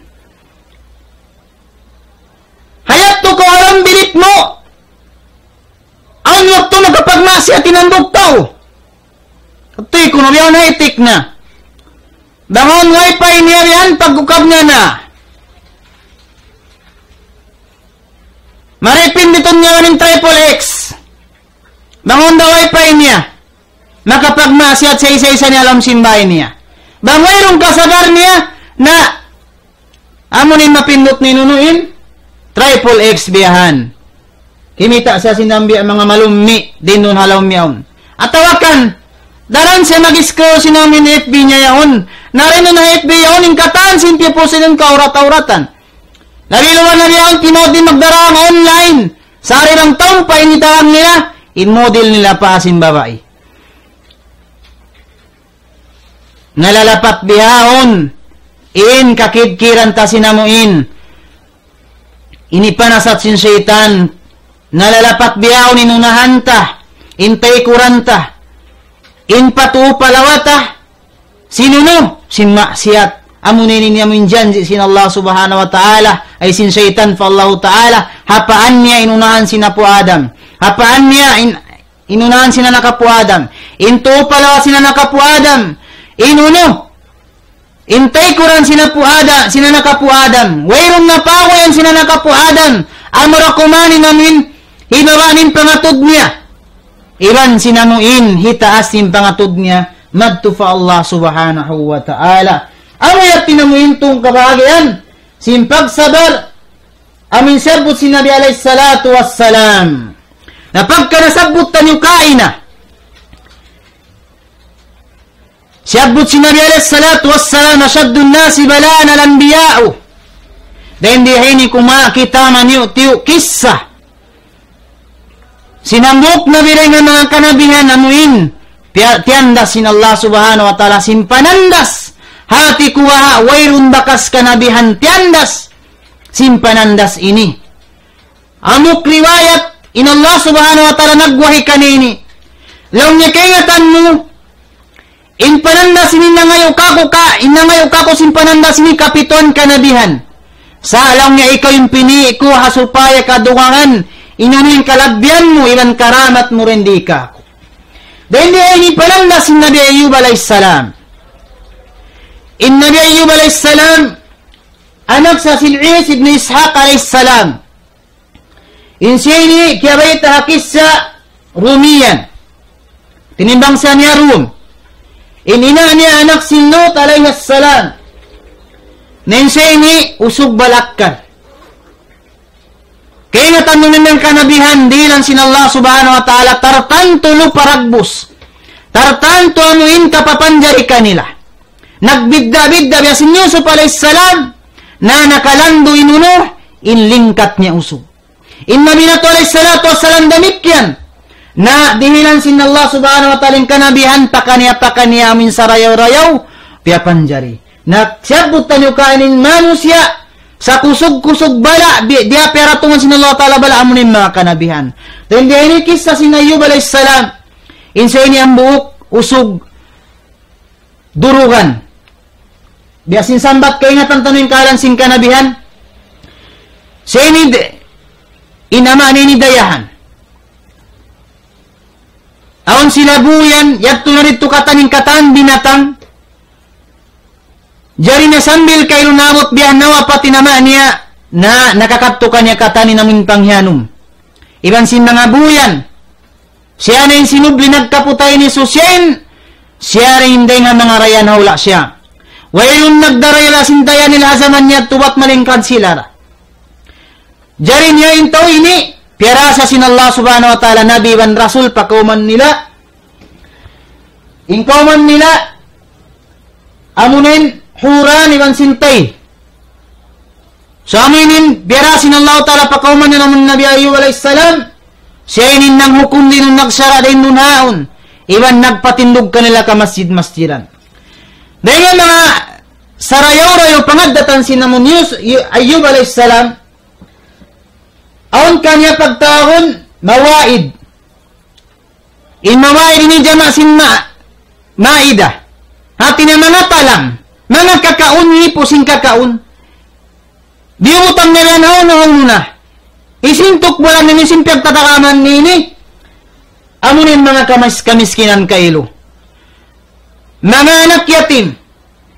Hayat tu kaw alam bilik mu. Awn waktu makapagmaksiyat in hambuuk tau. Katuy kunu' biya' na itik na. Bang awn wifi niya yan, pag-ukab niya na. Maripin ditu niya in triple X. Bang awn da wifi niya. Makapagmaksiyat sa isa-isa niya ha lawm sin bāy niya. Bang wayruun kasabar niya, na amu in mapindut niya in unu in triple X biya' yan. Kimita' siya sin dambi manga malummi' diin duun ha lawm yaun. Atawa kan, daran siya mag-scroll sin amu in F B niya yaun. Na dayn ha F B yaun, in katan sin piyapusin kaurat-auratan. Labi luba na biya' yan, timaud in magdarā online. Sa' ari bang tau pa in hitarang nila, in model nila pa sin babai. Nalalapat bihaun in kakidkiran ta sin amu in ini panasat sin saytan. Nalalapat bihaun in unahan ta, in taykuran ta, in patuupalawa ta, sin unu, sin maksiyat. Amu na ini in amu in janji' sin Allah Subhanahu wa Ta'ala, ay sin saytan pa Allah Ta'ala, ha paan niya in unahan sin apu' Adam. Ha paan niya in inunahan sin anak apu' Adam. In tuupalawa sin anak apu' Adam. In unu. In taykuran sin apu' Adam, sin anak apu' Adam. Wayruun na paguyan sin anak apu' Adam. Amura kuman in amu in hibaba' in pangatud niya. Iban sin amu in hitaas in pangatud niya. Madtu pa Allah Subhanahu wa Ta'ala. Amu yadtu in amu in tungka bahagian sin pagsabar. Amu in siyabbut sin Nabi alayhi salatu wassalam. Na pagka nasabbut taniyu kaina. Siyabbut sin Nabi alayhi salatu wassalam, أشد الناس بلاء الأنبياء. Dayn di ha ini kumawa' kita maniyu'-tiyu' kissa. Sin hambuuk nabi dayn ha manga kanabihan amu in piya-, tiyandas sin Allah Subhanahu wa Ta'ala sin panandas. Hati ku baha' wayruun bakas kanabihan tiyandas sin panandas ini. Hambuuk riwayat, in Allah Subhanahu wa Ta'ala nagwahi kaniya ini. Laung niya kaingatan mu, in panandas ini nangayu' kāku' ka, in nangayu' kāku' sin panandas ini kapituan kanabihan. Sa' laung niya ikaw in pinī' ku ha supaya kadugangan, in amu in kalabbihan mu, iban karamat mu dayn di kāku'. Dayn di ha ini panandas sin Nabi Ayyub alayhis salam. In Nabi Ayyub alayhis salam, anak sa sin Is ibn Ishaq alayhis salam. In siya ini kiyabayta' ha kissa Rumiyan. Tinimbang sa niya Rum. In ina' niya anak sin Lut alayhis salam. Na in siya ini usug balakkal. Kaingatan mu in kanabihan dihilan sin Allah Subhanahu wa Ta'ala, tartantu lupa dagbus. Tartantu amu in kapapanjari kanila. Nagbidda'-bidda' biya' sin Yusuf alayhis salam, na nakalandu' in unu, in lingkat niya usug. In Nabi natu' alayhis salatu wassalam damikkiyan. Na dihilan sin Allah Subhanahu wa Ta'ala in kanabihan pakaniya-pakaniya amu in sarayaw-rayaw, piyapanjari. Na siyabbut taniyu kaina in manusiya', sa kusug-kusug bala', di-, diya piyaratungan sin Allah Ta'ala bala' amu in manga kanabihan. Dayn di ha ini kissa sin Ayyub alayhis salam. In siya ini hambuuk usug durugan. Biya' sin sambat kaingatan taniyu in kahalan sin kanabihan. Siya ini d-, in ama' niya ini dayahan. Awn sila buyan, yadtu na didtu katan in katan binatang. Jari na sambil kailu namut biya' nawapat in ama' niya, na nakakadtu kaniya katan in amu in panghiyanum. Iban sin manga buyan. Siya na in sinubli nagkaputay ini, so siya in Siya rin in dayn ha manga dayahan ha hula' siya. Wayruun nagdarayaw sin dayahan nila ha jaman niya tubat malingkad sila ra. Jari niya in tau ini, piyarasa sin Allah subhanahu wa ta'ala nabi iban rasul pa kawman nila. In kawman nila, amuin Huran iban Sintai. So amuin piyarasa sin Allah ta'ala pa kawman nila amun Nabi Ayyub alayhis salam, siya ini in nanghukum dayn duun, nagsara' dayn duun haun, iban nagpatindug kanila kamasjid-masjidan. Dayn ha manga sarayaw-rayaw pangaddatan sin amun Yus-, Yu-, Ayyub alayhis salam, awn kaniya pagtawagun mawaid. In mawaid ini jama' sin ma-, maida. Hati niya manga talang, manga kakaun, hipu' sin kakaun. Diyubutang niya yan haun-haun na. Isin tukbulan ini sin piyagtatakaman ini. Amuin manga kamis-, kamiskinan kailu. Manga anak yatim.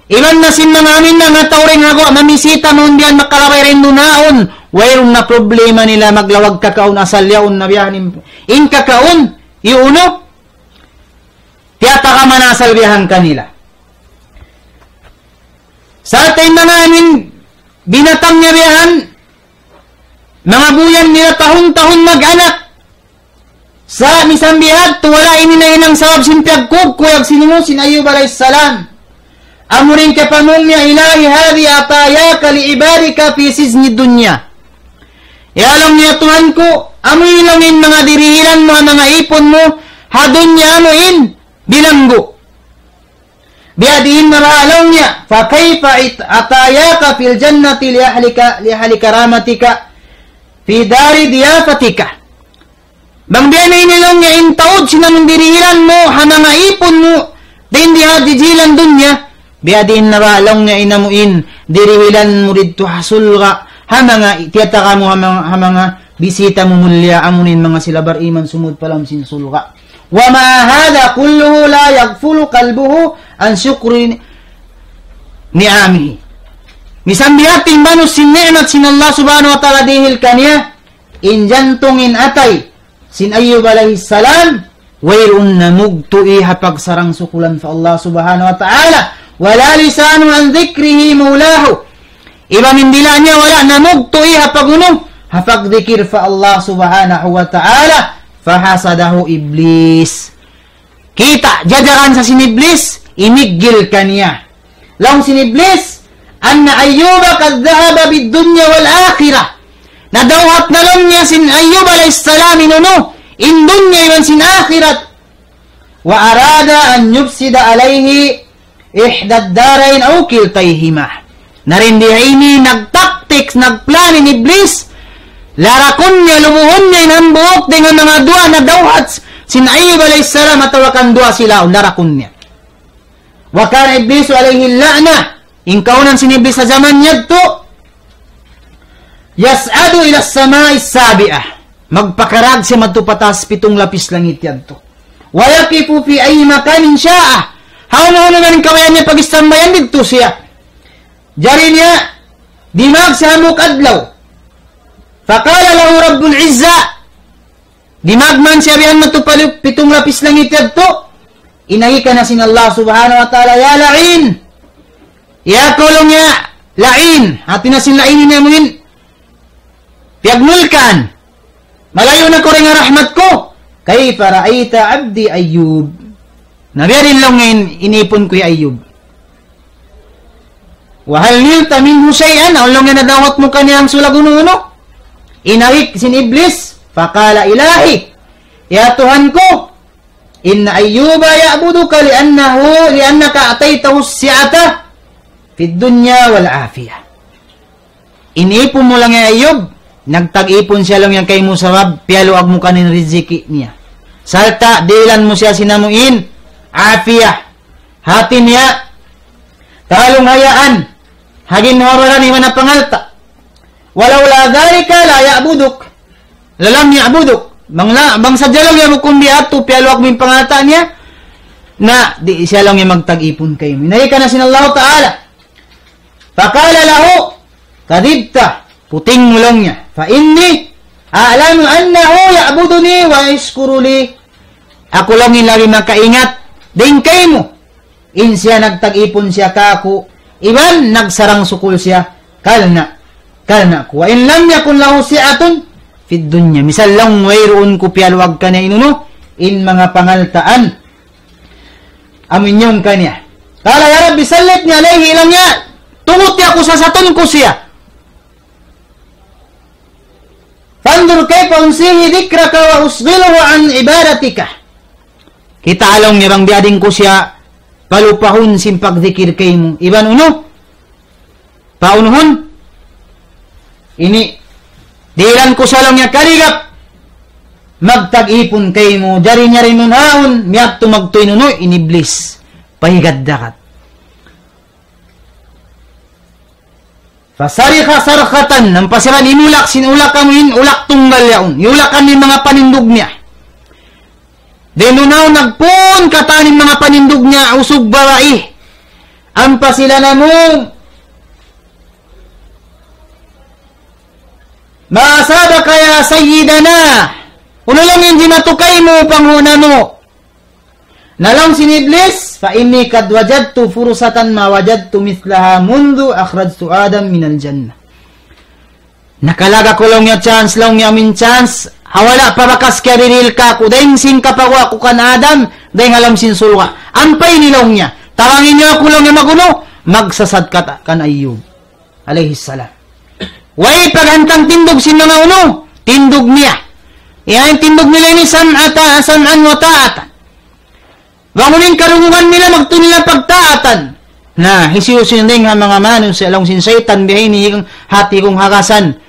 Iban na sin manga amin na nga tau dayn ha guwa' mamisita mawn biya' yan makalabay dayn duun haun. Wayruun na problema nila maglawag kakaun asal yaun na biya' yan in, in kakaun. Unu? Tiyatakaman asal biya' yan kanila. Sa' in manga amin binatang niya biya' yan, manga buyan nila tahun-tahun mag-anak. Sa' misan biya' hadtu wala' ini nahinang sabab sin piyagkuyag-kuyag sin unu, sin Ayyub alayhis salam. Amuin kiyapamung niya, إلهي هذه عطاياك لعبادك في سجن الدنيا. Ya laung niya Tuhan ku, amu in laung in manga dirihilan mu, manga ipun mu, ha dunya amuin bilanggu'. Biya' diin na baha' laung niya, فكيف عط-، عطاياك في الجنة لأهلك، لأهل كرامتك في دار ضيافتك. Bang biya' na ini laung niya in taud sin amun dirihilan mu, ha manga ipun mu, dayn di ha jijilan dunya. Biya' diin na baha' laung niya in amuin dirihilan mu didtu ha surga', ha manga tiyatakamu, ha manga, ha manga bisita mu mulliya, amuin manga sila bariman sumud pa lawm sin surga'. ومع هذا كله لا يغفل قلبه عن شكر نعمه. Misan biya' ha yan in banus sin ni'mat sin Allah subhanahu wa ta'ala dihil kaniya, in jantung, in atay sin Ayyub alayhis salam, wayruun namugtu' ha pagsarang sukulan pa Allah subhanahu wa ta'ala. ولا لسانه عن ذكر مولاه. Iban in dila' niya wala' namugtu' ha pag-unu, ha pagdikir pa Allah subhanahu wa ta'ala. فحسده إبليس. Kita', jajaran sa sin Iblis, imiggil kaniya. Laung sin Iblis, أن أيوب قد ذهب بالدنيا والآخرة. Nadawhat na laung niya sin Ayyub alayhis salam in unu, in dunya iban sin akhirat. وأراد أن يفسد عليه إحدى الدارين أو كلتيهما. Na dayn di ha ini nagtaktik, nagplan in Iblis, larakun niya, lubuhun niya in hambuuk dayn ha manga duwa nadawhat sin Ayyub alayhis salam atawa kan duwa sila, larakun niya. وكان إبليس عليه اللعنة. In kaawnan sin Iblis ha jaman yadtu, يصعد إلى السماء السابعة. Magpakarag siya madtu pa taas pitung lapis langit yadtu. ويقف في أي مكان شاء. Hawnu-hawnu man in kabayaan niya pag-istambayan didtu siya. Jari niya, dimag siya hambuuk adlaw. فقال له رب العزة. Dimag man siya bihan madtu pa lip-, pitung lapis langit yadtu. Agi kaniya sin Allah subhanahu wa ta'ala, يا لعين. Ya kaw laung niya la'in. Hati niya sin la'in ini amuin piyagnulkaan. Malayu' na kaw dayn ha rahmat ku. كيف رأيت عبدي أيوب. Na biya' diin laung niya in ipun ku hi Ayyub. وهل نلت منه شيئا. Awn laung niya nadawhat mu kaniya hangsulag unu-unu. Agi sin Iblis. فقال إلهي. Ya Tuhan ku. إن أيوب يعبدك لأنه، لأنك أعطيته السعة في الدنيا والعافية. In ipun mu laung niya Ayyub, nagtag-ipun siya laung niya kaymu sabab piyaluag mu kaniya in riziki niya. Sarta' dihilan mu siya sin amuin afiyah. Hati niya, kalunghayaan ha ginhawa-baran iban ha pangalta'. ولولا ذلك لا يعبدك. لم يعبدك. Bang la-, bang sadja laung niya bukun biya' hādtu piyaluag mu in pangalta' niya, na di' siya laung niya magtag-ipun kaymu. Agi kaniya sin Allah Ta'ala. فقال له كذبت. Puting mu laung niya. فإني أعلم أنه يعبدني ويشكر لي. Aku laung in labi makaingat dayn kaymu. In siya nagtag-ipun siya kāku', iban nagsarang-sukul siya karna', karna' ku. وإن لم يكن له سعة في الدنيا. Misan laung wayruun ku piyaluag kaniya in unu, in manga pangaltaan amu in iyan kaniya. قال يا رب سلطني عليه, laung niya, tunguti aku, sasatun ku siya. فانظر كيف أنسيه ذكرك وأشغله عن عبادتك. Kitaa laung niya bang biya' diin ku siya palupahun sin pagdikir kaymu. Iban unu, paunuhun, ini, dihilan ku siya laung niya kaligap magtag-ipun kaymu, jari niya rin nun haun, miyadtu magtuy in unu, in Iblis. Pahigad dagat. فصرخ صرخة, ampa siya imulak sin ulak amu in ulak tunggal yaun. Iyulak in manga panindug niya. Dayn duun nagpun katan in manga panindug niya, usug babai. Ampa sila namung, ما أصابك يا سيدنا. Unu laung in jimatu kaymu, panghu' namu'? Na laung sin Iblis, فإني قد وجدت فرصة ما وجدت مثلها منذ أخرجت آدم من الجنة. Nakalaga ku laung niya chance, laung niya amu in chance, ha wala' pa bakas kiyarihil kāku', dayn sin kapaguwa' ku kan Adam, dayn ha lawm sin surga'. Ampa ini laung niya, tabangi niyu aku laung niya mag-unu, magsasat kata kan Ayyub alayhi salam. Way paghantang tindug sin manga unu, tindug niya. Yan in tindug nila ini سمعة، سمعا وطاعة. Bang unu in karungugan nila, magtuy nila pagtaatan. Na, hisiyu-siyu dayn ha manga manusiya' laung sin saytan, biya' ini in hati kung hagasan.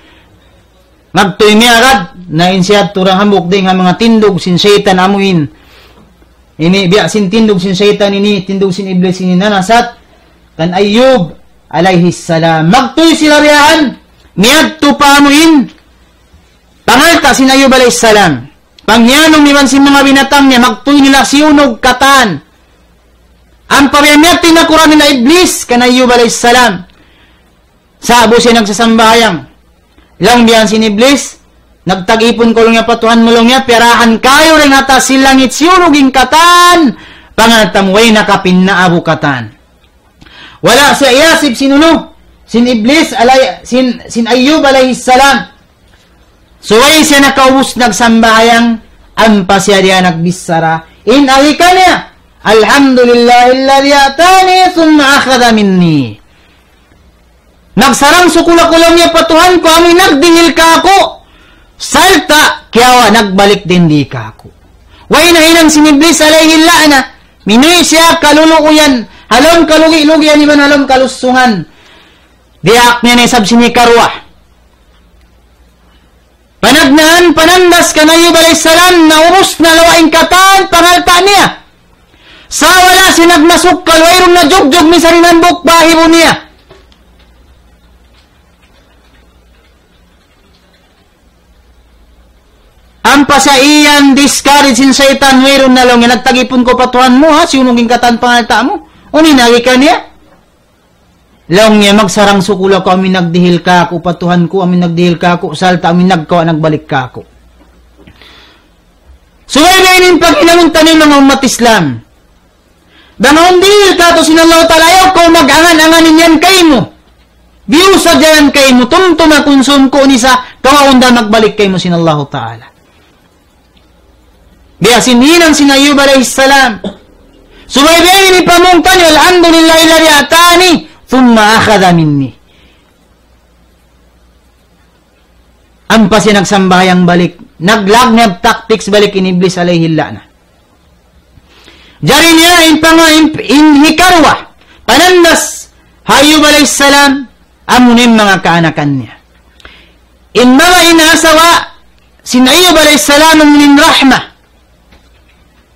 Magtuy miyagad, na in siya turang hambuuk dayn ha manga tindug sin saytan amu in. Ini biya' sin tindug sin saytan ini, tindug sin Iblis ini nanasat kan Ayyub alayhi salam. Magtuy sila biya' yan, miyadtu pa amu in pangalta' sin Ayyub alayhi salam. Panghiyanun iban sin manga binatang niya, magtuy nila siyunug katan. Ampa biya' miyadtu in nakuran nila Iblis kan Ayyub alayhi salam. Sa'bu siya nagsasambahayang. Laung biya' sin Iblis, nagtag-ipun kaw laung niya pa Tuhan mu laung niya, piyarahan kayu dayn ha taas sin langit siyunug in katan pangalta' mu, way nakapinnaabu katan. Wala' siya iyasib sin unu, sin Iblis alay-, sin, sin Ayyub alayhi salam. Subay siya nakaubus nagsambahayang, ampa siya diya nagbichara. In agi kaniya, الحمد لله الذي أعطاني ثم أخذ مني. Nagsarang-sukul aku laung niya pa Tuhan ku, amu in nagdihil kāku', sarta' kiyawa' nagbalik dayn di kāku'. Way nahinang sin Iblis alayhi la'na, minuwi' siya kaluluuyan, ha lawm kalugi-lugian iban ha lawm kalusungan. Diyaak niya na isab sin hikaruwa. Panagnaan, panandas kan Ayyub alayhi salam, naubus na lawa' in katan pangalta' niya. Sa' wala' siya nagmasukkal, wayruun na jugjug misan in hambuuk bahibu niya. Ampa sa' iyan discourage sin saytan, wayruun na laung niya, nagtag-ipun kaw pa Tuhan mu, ha, siyunug in katan pangalta' mu. Unu in agi kaniya? Laung niya, magsarang-sukul aku, amu in nagdihil kāku' pa Tuhan ku, amu in nagdihil kāku', sarta' amu in nagkawa' nagbalik kāku'. Subay biya' ini in paghinangun taniyu manga ummat Islam. Bang awn dihil kātu' sin Allahu Ta'ala, ayaw kaw mag-angan-angan in yan kaymu. Biyu sadja yan kaymu, tumtuma kunsum ku nisa, kawaun da magbalik kaymu sin Allahu Ta'ala. Biya' sin hinang sin Ayyub alayhi salam. Subay biya' ini pamung taniyu, الحمد لله الذي أعطاني ثم أخذ مني. Ampa siya nagsambahayang balik. Naglag niya tactics balik in Iblis alayhi la'na. Jari niya in panga-, in, in hikaruwa, panandas ha Ayyub alayhi salam, amu in manga kaanakan niya. In manga in asawa sin Ayyub alayhi salam, amu in Rahma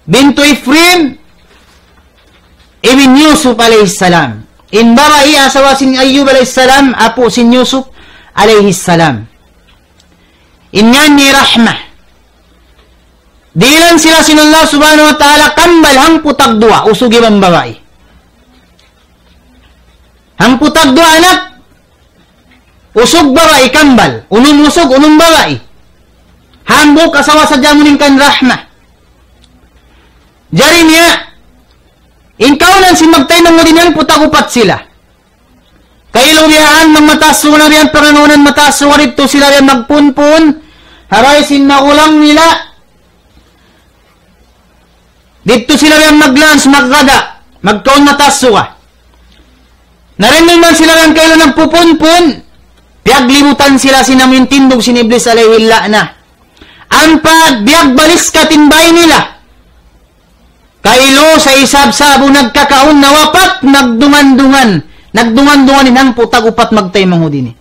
bintu Ifrim ibn Yusuf alayhi salam. In babai asawa sin Ayyub alayhi salam, apu' sin Yusuf alayhi salam. In ngan niya Rahma. Dihilan sila sin Allah Subhanahu wa Ta'ala kambal hangpu' tagduwa, usug iban babai. Hangpu' tagduwa anak, usug babai kambal, unum usug, unum babai. Hambuuk asawa sadja amu in kan Rahma. Jari niya, In kaunan sin magtaymanghud ini hangpu' tag-upat sila. Kailu biya' yan, mataas suga na biya' yan, pangangaunan mataas suga, didtu sila biya' yan magpunpun, ha bay sin magulang nila. Didtu sila biya' yan mag-lunch, magkada, magkaun mataas suga. Na dayn duun man sila biya' yan kailu nagpupunpun, piyaglibutan sila sin amu in tindug sin Iblis alayhi la'na. Ampa biyagbalik ka tin bay nila. Kailu sa isab sa'bu nagkakaun nawapat, nagdungan-dungan. Nagdungan-dungan in hangpu' tag-upat magtaymanghud ini.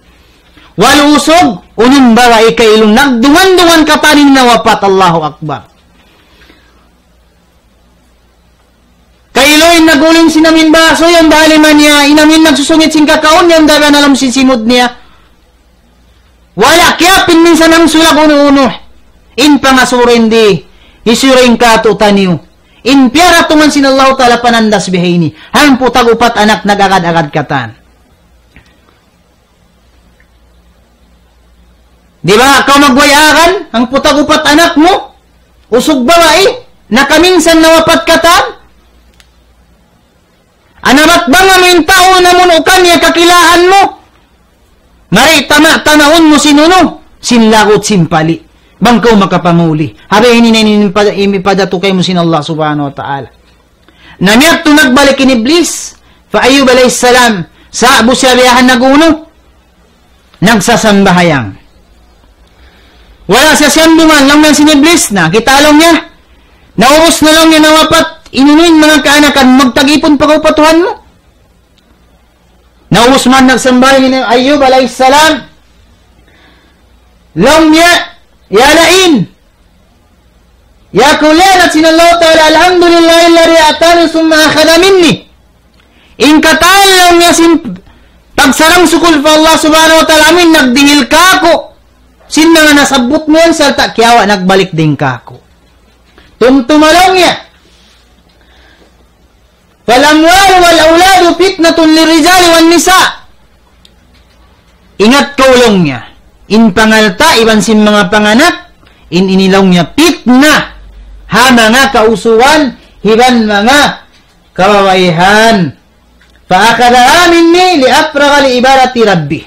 Walu usug, unum babai kailu nagdungan-dungan katan in nawapat, Allahu Akbar. Kailu in nag-uling sin amu in basu, yan da ha lima niya, in amu in nagsusungit sin kakaun, yan da ha lawm sin simud niya. Wala' kiyapin minsan hangsulag unu-unu. In pangasubu di, hisiyu in kātu'niyu. In piyaratungan sin Allahu Ta'ala panandas bihaini. Hangpu' tag-upat anak nag-agad-agad katan. Di' ba kaw magwayaan, hangpu' tag-upat anak mu, usug babai, nakaminsan nawapat katan? Anabat bang amu in tau na munu kaniya kakilahan mu? Mari tama-tamaun mu sin unu, sin lagut sin pali'. Bang kaw makapamuli. Ha bay ini na in pa-, in padatu kaymu sin Allah Subhanahu wa Ta'ala. Na miyadtu nagbalik in Iblis, pa Ayyub alayhis salam, sa'bu siya biya' yan nag-unu, nagsasambahayang. Wala' siya siyambungan, laung niya sin Iblis, na kita' laung niya, naubus na laung niya nawapat, in unu in manga kaanakan, magtag-ipun pa kaw pa Tuhan mu. Naubus man nagsambahayang in Ayyub alayhis salam, laung niya, ya la'in, ya ku liyanat sin Allah Ta'ala, alhamdulillahilladhi a'tani thumma akhadha minni. In katan laung niya sin pagsarang-sukul pa Allah Subhanahu wa Ta'ala, amu in nagdihil kāku' sin manga nasabbut mu yan, sarta' kiyawa' nagbalik dayn kāku'. Tumtuma laung niya, فالأموال والأولاد فتنة للرجال والنساء. Ingat kaw laung niya, in pangalta' iban sin manga panganak, in ini laung niya pitna ha manga kausugan iban manga kababaihan. فأخذها مني لأفرغ لعبادة ربي.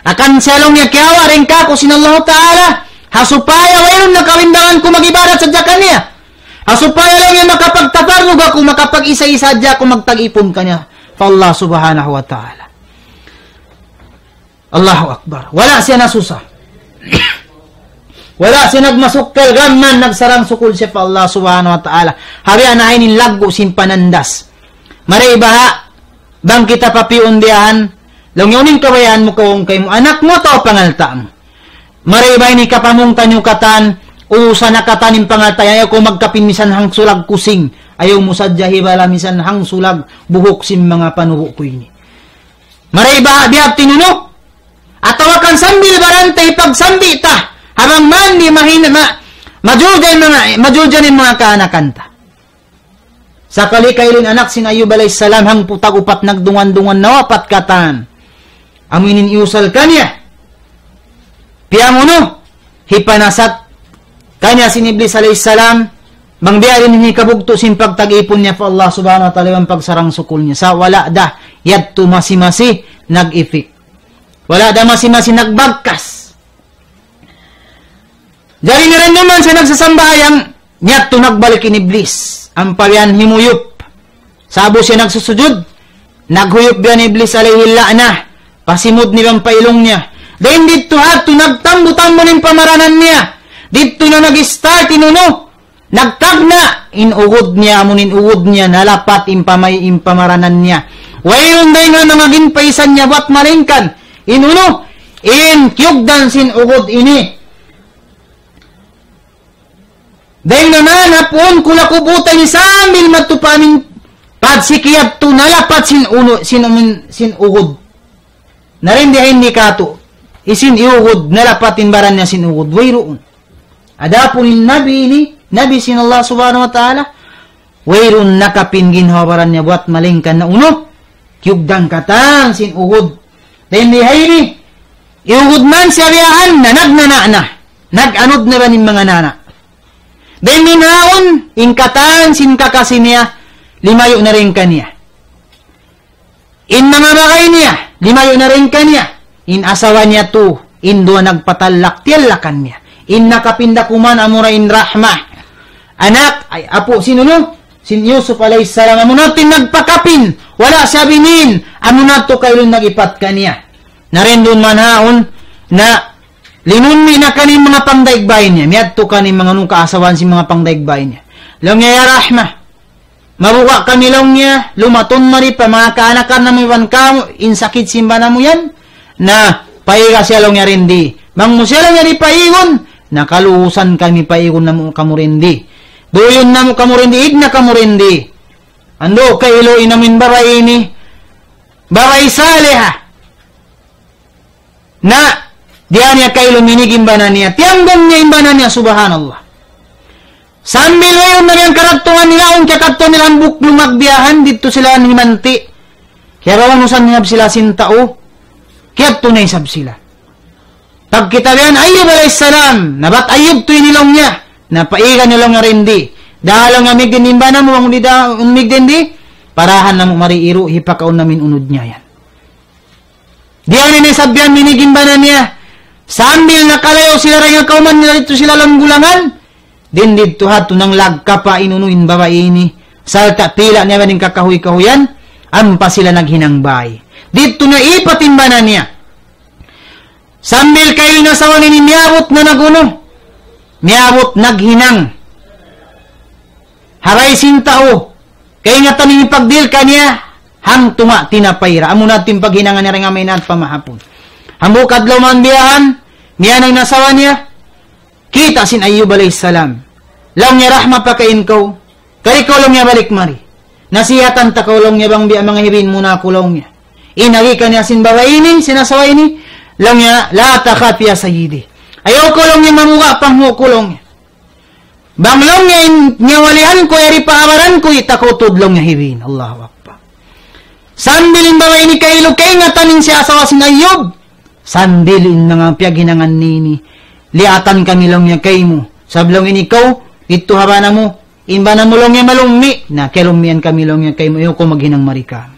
Hangkan siya laung niya kiyawa' dayn kāku' sin Allahu Ta'ala, ha supaya wayruun na kabimbangan ku mag-ibadat sadja kaniya. Ha supaya laung niya makapagtaparrug aku, makapag-isa-isa sadja aku magtag-ipun kaniya pa Allah Subhanahu wa Ta'ala. Allahu Akbar. Wala' siya nasusa. Wala' siya nagmasukkal, gam mayan nagsarang-sukul siya pa Allah Subhanahu wa Ta'ala. Ha biya' na ini in laggu' sin panandas. Mari baha', bang kita papiun biya' yan, laung niya unu in kabayaan mu kaw kaymu anak mu atawa pangalta' mu. Mari ba ini kapamung taniyu katan, usa na katan in pangalta' yan, ayaw kaw magkapin misan hangsulag kusing, ayaw mu sadja hibala misan hangsulag buhuk sin manga panubu' ku ini. Mari ba biya' ha yan unu? Atawa kan sambil baran ta hipagsambi' ta, ha bang man di' mahin-, ma-, majuljan manga, majuljan in manga kaanakan ta. Sakali kailu in anak sin Ayyub alayhis salam hangpu' tag-upat nagdungan-dungan nawapat katan. Amu in iyusal kaniya. Piyamunu, hipanasat kaniya sin Iblis alayhis salam, bang biya' diin in hikabugtu' sin pagtag-ipun niya pa Allah Subhanahu wa Ta'ala iban pagsarang-sukul niya. Sa' wala' da, yadtu masi-masi nag-effect. Wala' da masi-masi nagbagkas. Jari na dayn duun man siya nagsasambahayang, yadtu nagbalik in Iblis. Ampa biya' yan himuyup. Sa'bu siya nagsusujud, naghuyup biya' yan Iblis alayhi la'na. Pa simud niya iban pa ilung niya. Dayn didtu hadtu nagtambu-tambu in pamaranan niya. Didtu na nag-start in unu. Nagtagna' in ugud niya, amu in ugud niya, nalapat in pamay-, in pamaranan niya. Wayruun dayn ha manga ginpaisan niya buwat malaingkan in unu, in kiyugdan sin ugud ini. Dayn ha manga puun kula' kubutan ini sambil matupa' amin padsiki yadtu nalapat sin unu, sin amin, sin ugud. Na dayn di ha ini katu', hisiyu in iyugud, nalapat in baran niya sin ugud, wayruun. Adapun in Nabi ini, Nabi sin Allah Subhanahu wa Ta'ala, wayruun nakapin ginhawa-baran niya buwat malaingkan na unu, kiyugdan katan sin ugud. Dayn di ha ini, iyugud man siya biya' yan, na nagnana' na, nag-anud na ba in manga nana'. Dayn duun yaun, in katan sin kakasi niya, limayu' na dayn kaniya. In manga bagay niya, limayu' na dayn kaniya. In asawa niya tu, in duwa nagpatallak, tiyallakan niya. In nakapin da kuman amura in Rahma. Anak, ay, apu' sin unu, sin Yusuf alayhis salam, amuna tu in nagpakapin, wala' siya binin, amuna tu kailu in nag-ipat kaniya. Na dayn duun manhaun, na limunmi na kaniya in manga pangdaig bay niya, miyadtu kaniya in manga unu kaasawahan sin manga pangdaig bay niya. Laung niya, "Ya Rahma, mabuga' kami," laung niya, "lumatun mari pa manga kaanakan namu' iban kamu, in sakit sin bana mu yan, na paiga siya," laung niya, "dindi. Bang mu siya," laung niya, "di' paigun, na kaluusan kami, paigun namu' kamu dindi. Duyun namu' kamu dindi, ig na kamu dindi." Andu' kailu in amuin babai ini, babai saliha. Na, diyā niya kailu minig in bana niya. Tiyanggung niya in bana niya, subhanallah. Sambil wayruun na yan karattungan nila, awn kiyakadtu nila hambuuk lungag biyahan, didtu sila himanti'. Kiyaraunusan na isab sila sin tau, kiyadtu na isab sila. Pagkita' biyahan Ayyub alayhis salam, na bat Ayyub tu ini laung niya, na paiga niya laung niya dindi. Dahil laung niya migdin in bana mu, bang di' da, migdin di, parahan namu' mari iru', hipakaun namu' in unud niya yan. Diyā niya isab yan minig in bana niya. Sambil nakalayu' sila dayn ha kawman nila didtu sila lawm gulangan. Dindi didtu ha tunang lagkapa' in unu in babai ini. Sarta' pila' niya ba in kakahuy-kahuyan. Ampa sila naghinang bay. Didtu na ipat in bana niya. Sambil kailu in asawa niya ini miyabut na nag-unu. Miyabut naghinang. Haray sin tau. Kaingatan in pagdihil kaniya, hangtunga' tinapay ra. Amuna tu in paghinangan niya dayn ha mainaat pa mahapun. Hambuuk adlaw mayan biyahan, miyan in asawa niya, kita' sin Ayyub alayhis salam. Laung niya, "Rahma, pakain kaw. Kari kaw," laung niya, "balik mari. Nasihatan ta kaw," laung niya, "bang biya' manga hibin mu na aku," laung niya. In agi kaniya sin babai ini, sin asawa ini, laung niya, "La takhaf ya sayyidi. Ayaw kaw," laung niya, "mamuga' panghu' ku," laung niya. "Bang," laung niya, "in nyawa-lihan ku, yari pa abaran ku, di' ta kaw tuud," laung niya, "hibin." Allahu Akbar. Sambil in babai ini kailu kaingatan in siya asawa sin Ayyub. Sambil in manga piyaghinangan niya ini. "Liyatan kami," laung niya, "kaymu. Sabab," laung niya, "ikaw, didtu ha bana mu. In bana mu," laung niya, "malummi'. Na, kiyalummian kami," laung niya, "kaymu. Ayaw kaw maghinang mari kamu."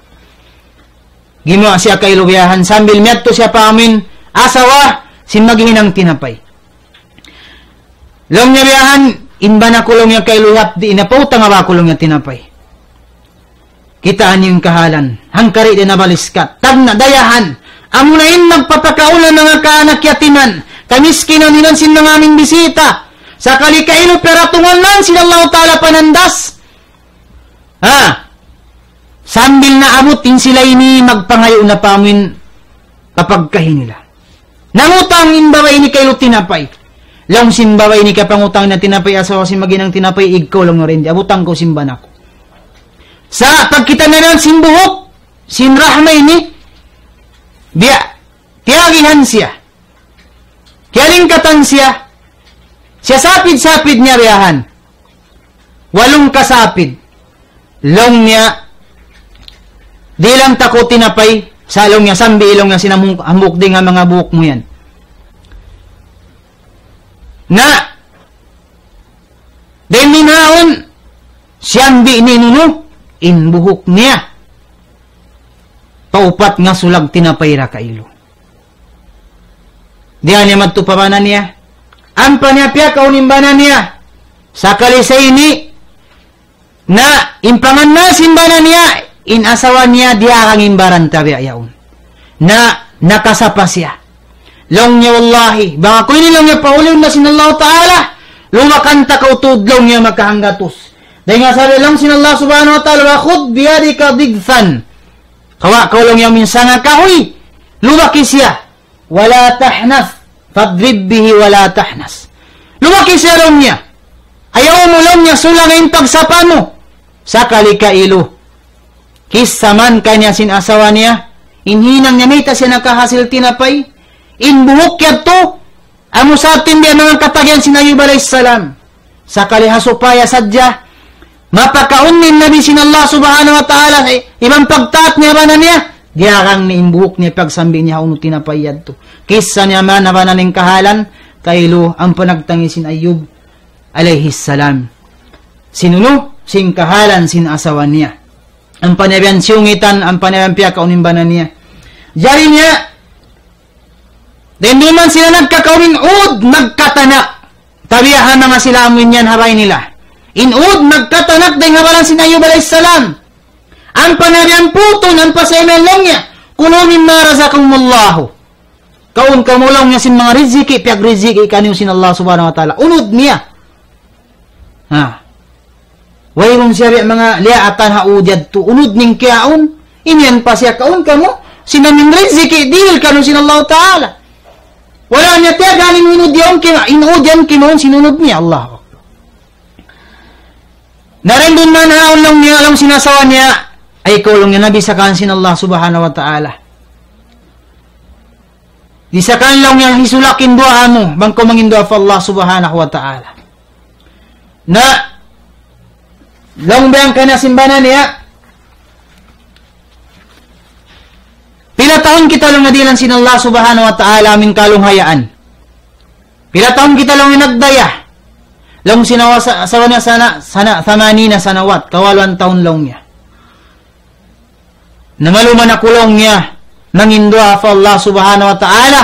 Gimuwa' siya kailu biyahan sambil miyadtu siya pa amuin asawa sin maghihinang tinapay. Laung niya biyahan, "In bana ku," laung niya, "kailu hapdi', in pautang ba aku," laung niya, "tinapay. Kitaa niyu in kahalan. Hangkari' di' na baliskat. Tagna' dayahan. Amuna in magpapakaun ha manga kaanak yatiman, kamiskinan iban sin manga amuin bisita. Sakali kailu piyaratungan man sin Allahu Ta'ala panandas." Ha? Sambil naabut in sila ini magpangayu' na pa amuin kapagkahi nila. Nangutang in babai ini kailu tinapay. Laung sin babai ini kapangutang na tinapay, asawa sin maghinang tinapay, "Ig kaw," laung niya, "dindi. Abutang kaw sin bana ku." Sa' pagkita' na yan sin buhuk sin Rahma ini, biya' tiyagihan siya. Kiyalingkatan siya. Siya sapid-sapid niya biyahan. Walung kasapid. Laung niya, "Di' lang ta kaw tinapay," sa' laung niya, "sambi," laung niya, "sin hambuuk dayn ha manga buhuk mu yan." Na, dayn duun haun, siyambi' niya in unu, in buhuk niya. Paupat ngasulag tinapay ra kailu. Diyā niya madtu pa bana niya. Ampa niya piyakaun in bana niya. Sakali sa ini, na in pangannal sin bana niya, in asawa niya diyagang in baran ta biya' yaun. Na nakasapa siya. Laung niya, "Wallahi, bang aku ini," laung niya, "paulihun na sin Allahu Ta'ala, lubakan ta kaw tuud," laung niya, "makahanggatus." Dayn ha sabab laung sin Allah Subhanahu wa Ta'ala, "Wa khudh biyadika dighfan." Kawa' kaw, laung niya, amuin sanga kahuy. Lubaki siya. "Wa la tahnath. Fadrib bihi wa la tahnath." Lubaki siya, laung niya. Ayaw mu, laung niya, sulanga in pagsapa mu. Sakali kailu. Kissa man kaniya sin asawa niya. In hinang niya mayta' siya nakahasil tinapay. In buhuk yadtu. Amu sa atin biya' manga katagihan sin Ayyub alayhis salam. Sakali ha supaya sadja mapakaun in Nabi sin Allah Subhanahu wa Ta'ala, eh, iban pagtaat niya bana niya, diyagang niya in buhuk niya pagsambi niya ha unu tinapay yadtu. Kissa niya man ha bana niya in kahalan, kailu ampa nagtangis sin Ayyub alayhis salam. Sin unu, sin kahalan sin asawa niya. Ampa niya biyan siyungitan, ampa niya biyan piyakaun in bana niya. Jari niya, dayn duun man sila nagkakaun in ud, nagkatanak. Tabiya' ha manga sila amu in yan ha bay nila. In ud, nagkatanak dayn ha baran sin Ayyub alayhis salam. Ampa niya biyan putun, ampa sa imiyan laung niya, كلوا مما رزقكم الله. Kaun kamu laung niya sin manga riziki, piyagriziki kaniyu sin Allah subhanahu wa ta'ala. Unud niya. Ha. Wayruun siya biya' manga liyaatan ha ud yadtu. Unud niya in kiyaun. Imiyan pa siya kaun kamu. Sin amu in riziki, dihil kaniyu sin Allah ta'ala. Wala' niya tiyaganin unud yaun kima-, in ud yan kimaun sin unud niya. Allahu Akbar. Na dayn duun man haun laung niya, laung sin asawa niya, ay kaw laung niya, nabi sa kan sin Allah subhanahu wa ta'ala. Di' sa kan laung niya hisulak in duwaa mu, bang kaw manginduwaa pa Allah subhanahu wa ta'ala. Na, laung biya' kaniya sin bana niya, pila tahun kita laung niya dihilan sin Allah subhanahu wa ta'ala amu in kalunghayaan. Pila tahun kita laung niya nagdaya. Laung sin asawa, asawa niya sana, sana, ثمانين سنوات, kawaluan tahun laung niya. Na maluman aku laung niya, manginduwaa pa Allah subhanahu wa ta'ala.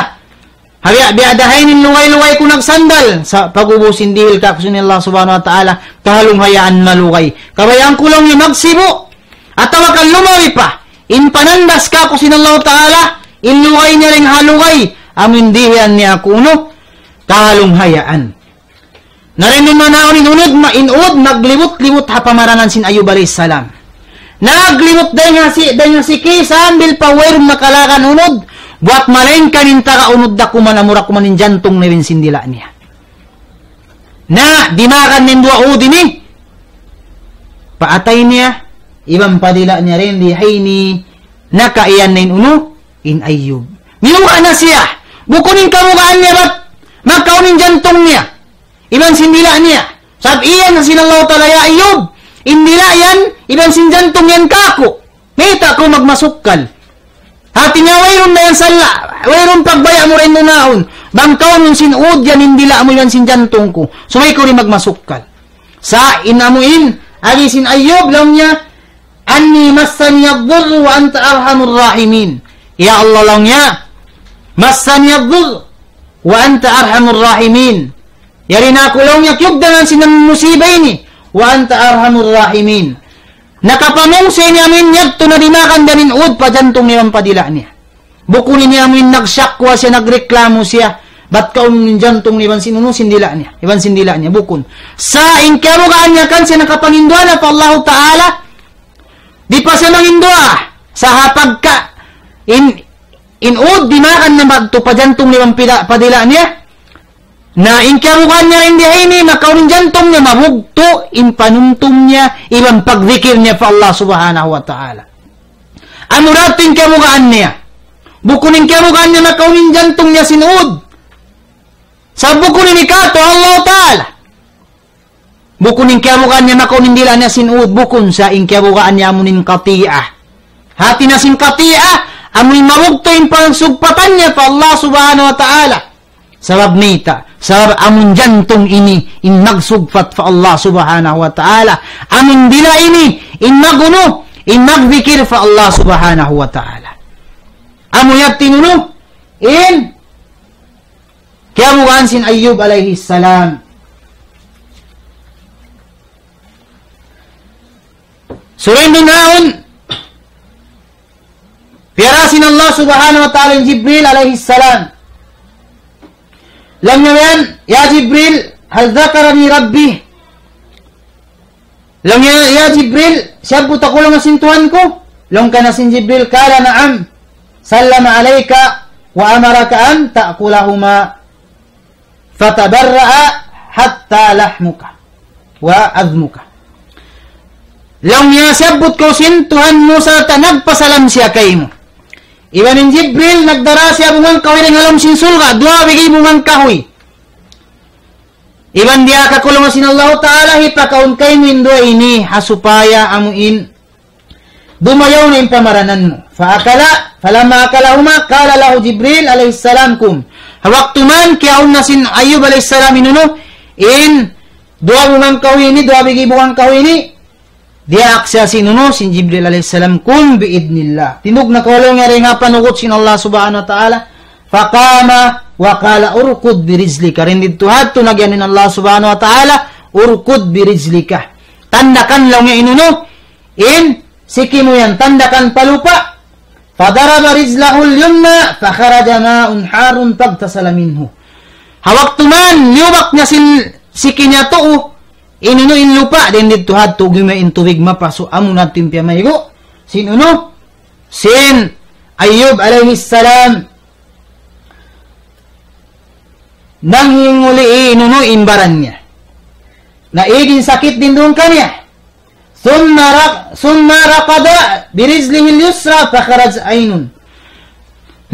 Hariya, biya' da ha ini in lugay-lugay ku nagsandal. Sa' pag'ubus in dihil kaku' sin Allah subhanahu wa ta'ala, kalunghayaan malugay. Kabayaan ku laung niya magsibu'. Atawa kan lumabi pa. In panandas kaku' sin Allah ta'ala, in lugay niya dayn ha lugay. Amu in dihilan niya aku unu, kalunghayaan. Na dayn duun man haun in unud, ma-, in ud, maglibut-libut ha pamaranan sin Ayyub alayhis salam. Naglibut dayn ha si-, dayn ha siki sambil pa wayruun makalakan unud, buwat malaingkan in taga unud da kuman amura kuman in jantung niya iban sin dila' niya. Na, dimakan niya in duwa ud ini, pa atay niya, iban pa dila' niya dayn di ha ini, nakaiyan na in unu, in Ayyub. Miyuga' na siya, bukun in kamugaan niya bat, makaun in jantung niya. Iban sin dila' niya. Sabab iyan sin Allah ta'ala, "Ya Ayyub, in dila' yan, iban sin jantung yan kaku'. Mayta' kaw magmasukkal?" Hati niya wayruun na yan sala', wayruun pagbaya' mu dayn duun. Bang kaunun sin ud yan in dila' mu iban sin jantung ku. Subay kaw di' magmasukkal. Sa' in amu in, agi sin Ayyub, laung niya, أني مسني الضر وأنت أرحم الراحمين. Ya Allah, laung niya, مسني الضر وأنت أرحم الراحمين. Yari na aku laung niya kiyugdangan sin musiba ini. وأنت أرحم الراحمين. Nakapamung sa ini amin yadtu na dimakan da in ud pa jantung niya iban pa dila' niya. Bukun ini amin nagsyakwa siya, nagreklamo siya. Bat kaun in jantung niya iban sin unu, sin dila' niya. Iban sin dila' niya, bukun. Sa' in kiyabugaan niya kan siya nakapanginduwaa na pa Allahu Ta'ala. Di' pa siya manginduwaa. Sa' ha pagka in, in ud dimakan na madtu pa jantung niya iban pila-, pa dila' niya. Na in kiyabugaan niya dayn di ha ini, makaun in jantung niya, mabugtu' in panumtum niya, iban pagdikir niya pa Allah Subhanahu wa Ta'ala. Amu da in kiyabugaan niya. Bukun in kiyabugaan niya makaun in jantung niya sin ud. Sa' bukun ini katu' Allah Ta'ala. Bukun in kiyabugaan niya makaun in dila' niya sin ud, bukun sa' in kiyabugaan niya amu in qati'ah. Hati niya sin qati'ah, amu in mabugtu' in pagsugpatan niya pa Allah Subhanahu wa Ta'ala. Sabab mayta', sabab amu in jantung ini in magsugpat pa Allah Subhanahu wa Ta'ala. Amu in dila' ini in magunu, in magdikir pa Allah Subhanahu wa Ta'ala. Amu yadtu in unu, in kiyabugaan sin Ayyub alayhi salam. Surayn duun, piyara sin Allah Subhanahu wa Ta'ala in Jibril alayhi salam. Laung niya yan, "Ya Jibril, hal dhakarani Rabbi?" Laung niya, "Ya Jibril, siyabbut aku laung sin Tuhan ku?" Laung kaniya sin Jibril, "Qala na'am, sallama alayka wa amaraka an ta'kulahuma." Fatabarra'a hatta lahmuka wa azmuka. Laung niya siyabbut kaw sin Tuhan mu sarta' nagpasalam siya kaymu. Iban in Jibril nagdara siya bunga kahuy dayn ha lawm sin surga', duwa bigi bunga kahuy. Iban diyaak kaku' laung sin Allahu Ta'ala hipakaun kaymu in duwa ini ha supaya amu in dumayaw na in pamaranan mu. فأكلا، فلما أكلهما قال له جبريل عليه السلام: كم. Ha waktu man kiyaun na sin Ayyub alayhi salam in unu, in duwa bunga kahuy ini, duwa bigi bunga kahuy ini, Diyaak siya sin unu, sin Jibril alayhi salam, قم بإذن الله. Tindug na kaw laung niya dayn ha panugut sin Allah subhanahu wa ta'ala. فقام وقال اركض برجلك. Dayn didtu ha yadtu nagyan in Allah subhanahu wa ta'ala, اركض برجلك. Tandakan laung niya in unu, in siki mu yan, tandakan pa lupa'. فضرب رجله اليمنى فخرج ماء حار فاغتسل منه. Ha waktu man, liyubak niya sin siki niya tuu, in unu in lupa', dayn didtu ha yadtu gimay in tubig mapasu', amuna yadtu in piyamaygu' sin unu, sin Ayyub alayhi salam, nanghinguli in unu in baran niya. Naig in sakit dayn duun kaniya. ثم رق-، ثم ركض برجله اليسرى فخرج عين.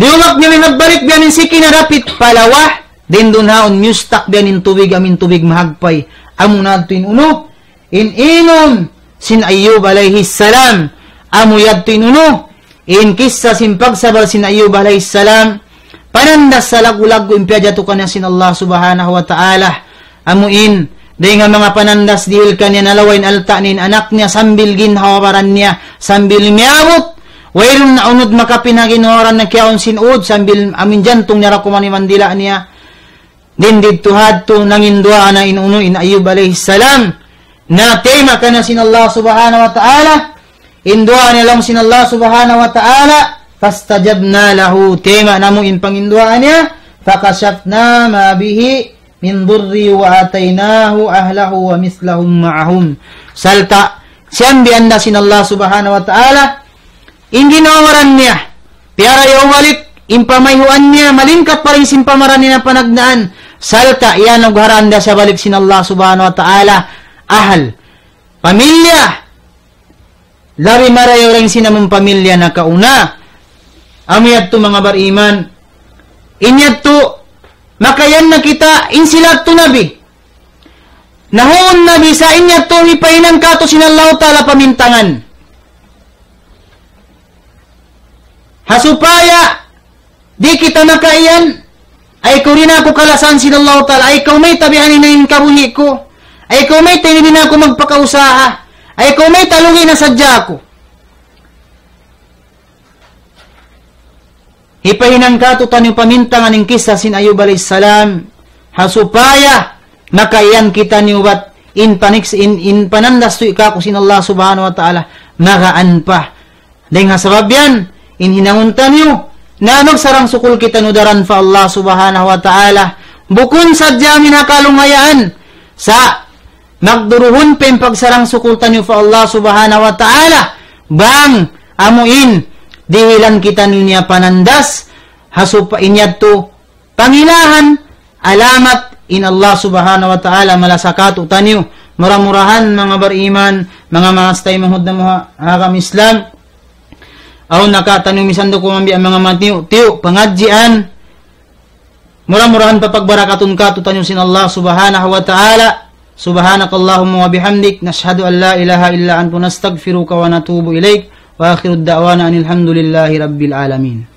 Liyubak niya, nagbalik biya' yan in siki niya dapit pa lawa, dayn duun haun miyustak biya' yan in tubig, amu in tubig mahagpay. Amuna yadtu in unu, in inum sin Ayyub alayhi salam. Amu yadtu in unu, in kissa sin pagsabar sin Ayyub alayhi salam, panandas salaggu'-laggu' in piyajatu kaniya sin Allah subhanahu wa ta'ala. Amu in, dayn ha manga panandas dihil kaniya, nalawa' in alta' niya, in anak niya, sambil ginhawa-baran niya, sambil miyabut. Wayruun na unu makapin ha ginhawa-baran niya, kiyaun sin ud, sambil amu in jantung niya da kuman iban dila' niya. Dayn didtu ha yadtu nanginduwaa na in unu, in Ayyub alayhi salam. Na tayma' kaniya sin Allah subhanahu wa ta'ala. In duwaa niya laung sin Allah subhanahu wa ta'ala. فاستجبنا له. Tayma' namu' in panginduwaa niya. فكشفنا ما به من ضر وآتيناه أهله ومثلهم معهم. Sarta' siyambian da sin Allah subhanahu wa ta'ala in ginhawa-baran niya. Piyarayaw balik in pamayhuan niya, malingkat pa dayn sin pamaran niya panagnaan. Sarta' iyanugharaan da siya balik sin Allah subhanahu wa ta'ala ahal, pamilya, labi marayaw dayn sin amun pamilya nakauna. Amu yadtu manga bariman. In yadtu, makayan na kita, in sila yadtu nabi. Nahun nabi sa in yadtu hipahinang katu' sin Allah ta'ala pamintangan. Ha supaya di' kita makaiyan, ay kaw di' na aku kalasahan sin Allah ta'ala, ay kaw mayta' biya' ini in kabuhi' ku, ay kaw mayta' di' na aku magpakausaha, ay kaw mayta' lugi' na sadja aku. Hipahinang katu' taniyu pamintangan in kissa sin Ayyub alayhi salam, ha supaya makaiyan kitaniyu bat in paniks-, in, in panandas tuud kāku' sin Allah subhanahu wa ta'ala, magaan pa. Dayn ha sabab yan, in hinangun taniyu, na magsarang-sukul kitaniyu daran pa Allah subhanahu wa ta'ala. Bukun sadja amu in ha kalungayaan, sa' magduruhun pa in pagsarang-sukul taniyu pa Allah subhanahu wa ta'ala. Bang amu in dihilan kitaniyu niya panandas, ha supa-, in yadtu pangilahan, alamat in Allah subhanahu wa ta'ala malasa kātu' taniyu. Mura-murahan manga bariman, manga maas taymanghud namu' ha agama Islam, awn na kātaniyu misan da kuman biya' manga matiyu'-tiyu' pangadjian. Mura-murahan papagbarakatun kātu' taniyu sin Allah subhanahu wa ta'ala. سبحانك اللهم وبحمدك، نشهد أن لا إله إلا أنت، نستغفرك ونتوب إليك. وآخر دعوانا أن الحمد لله رب العالمين.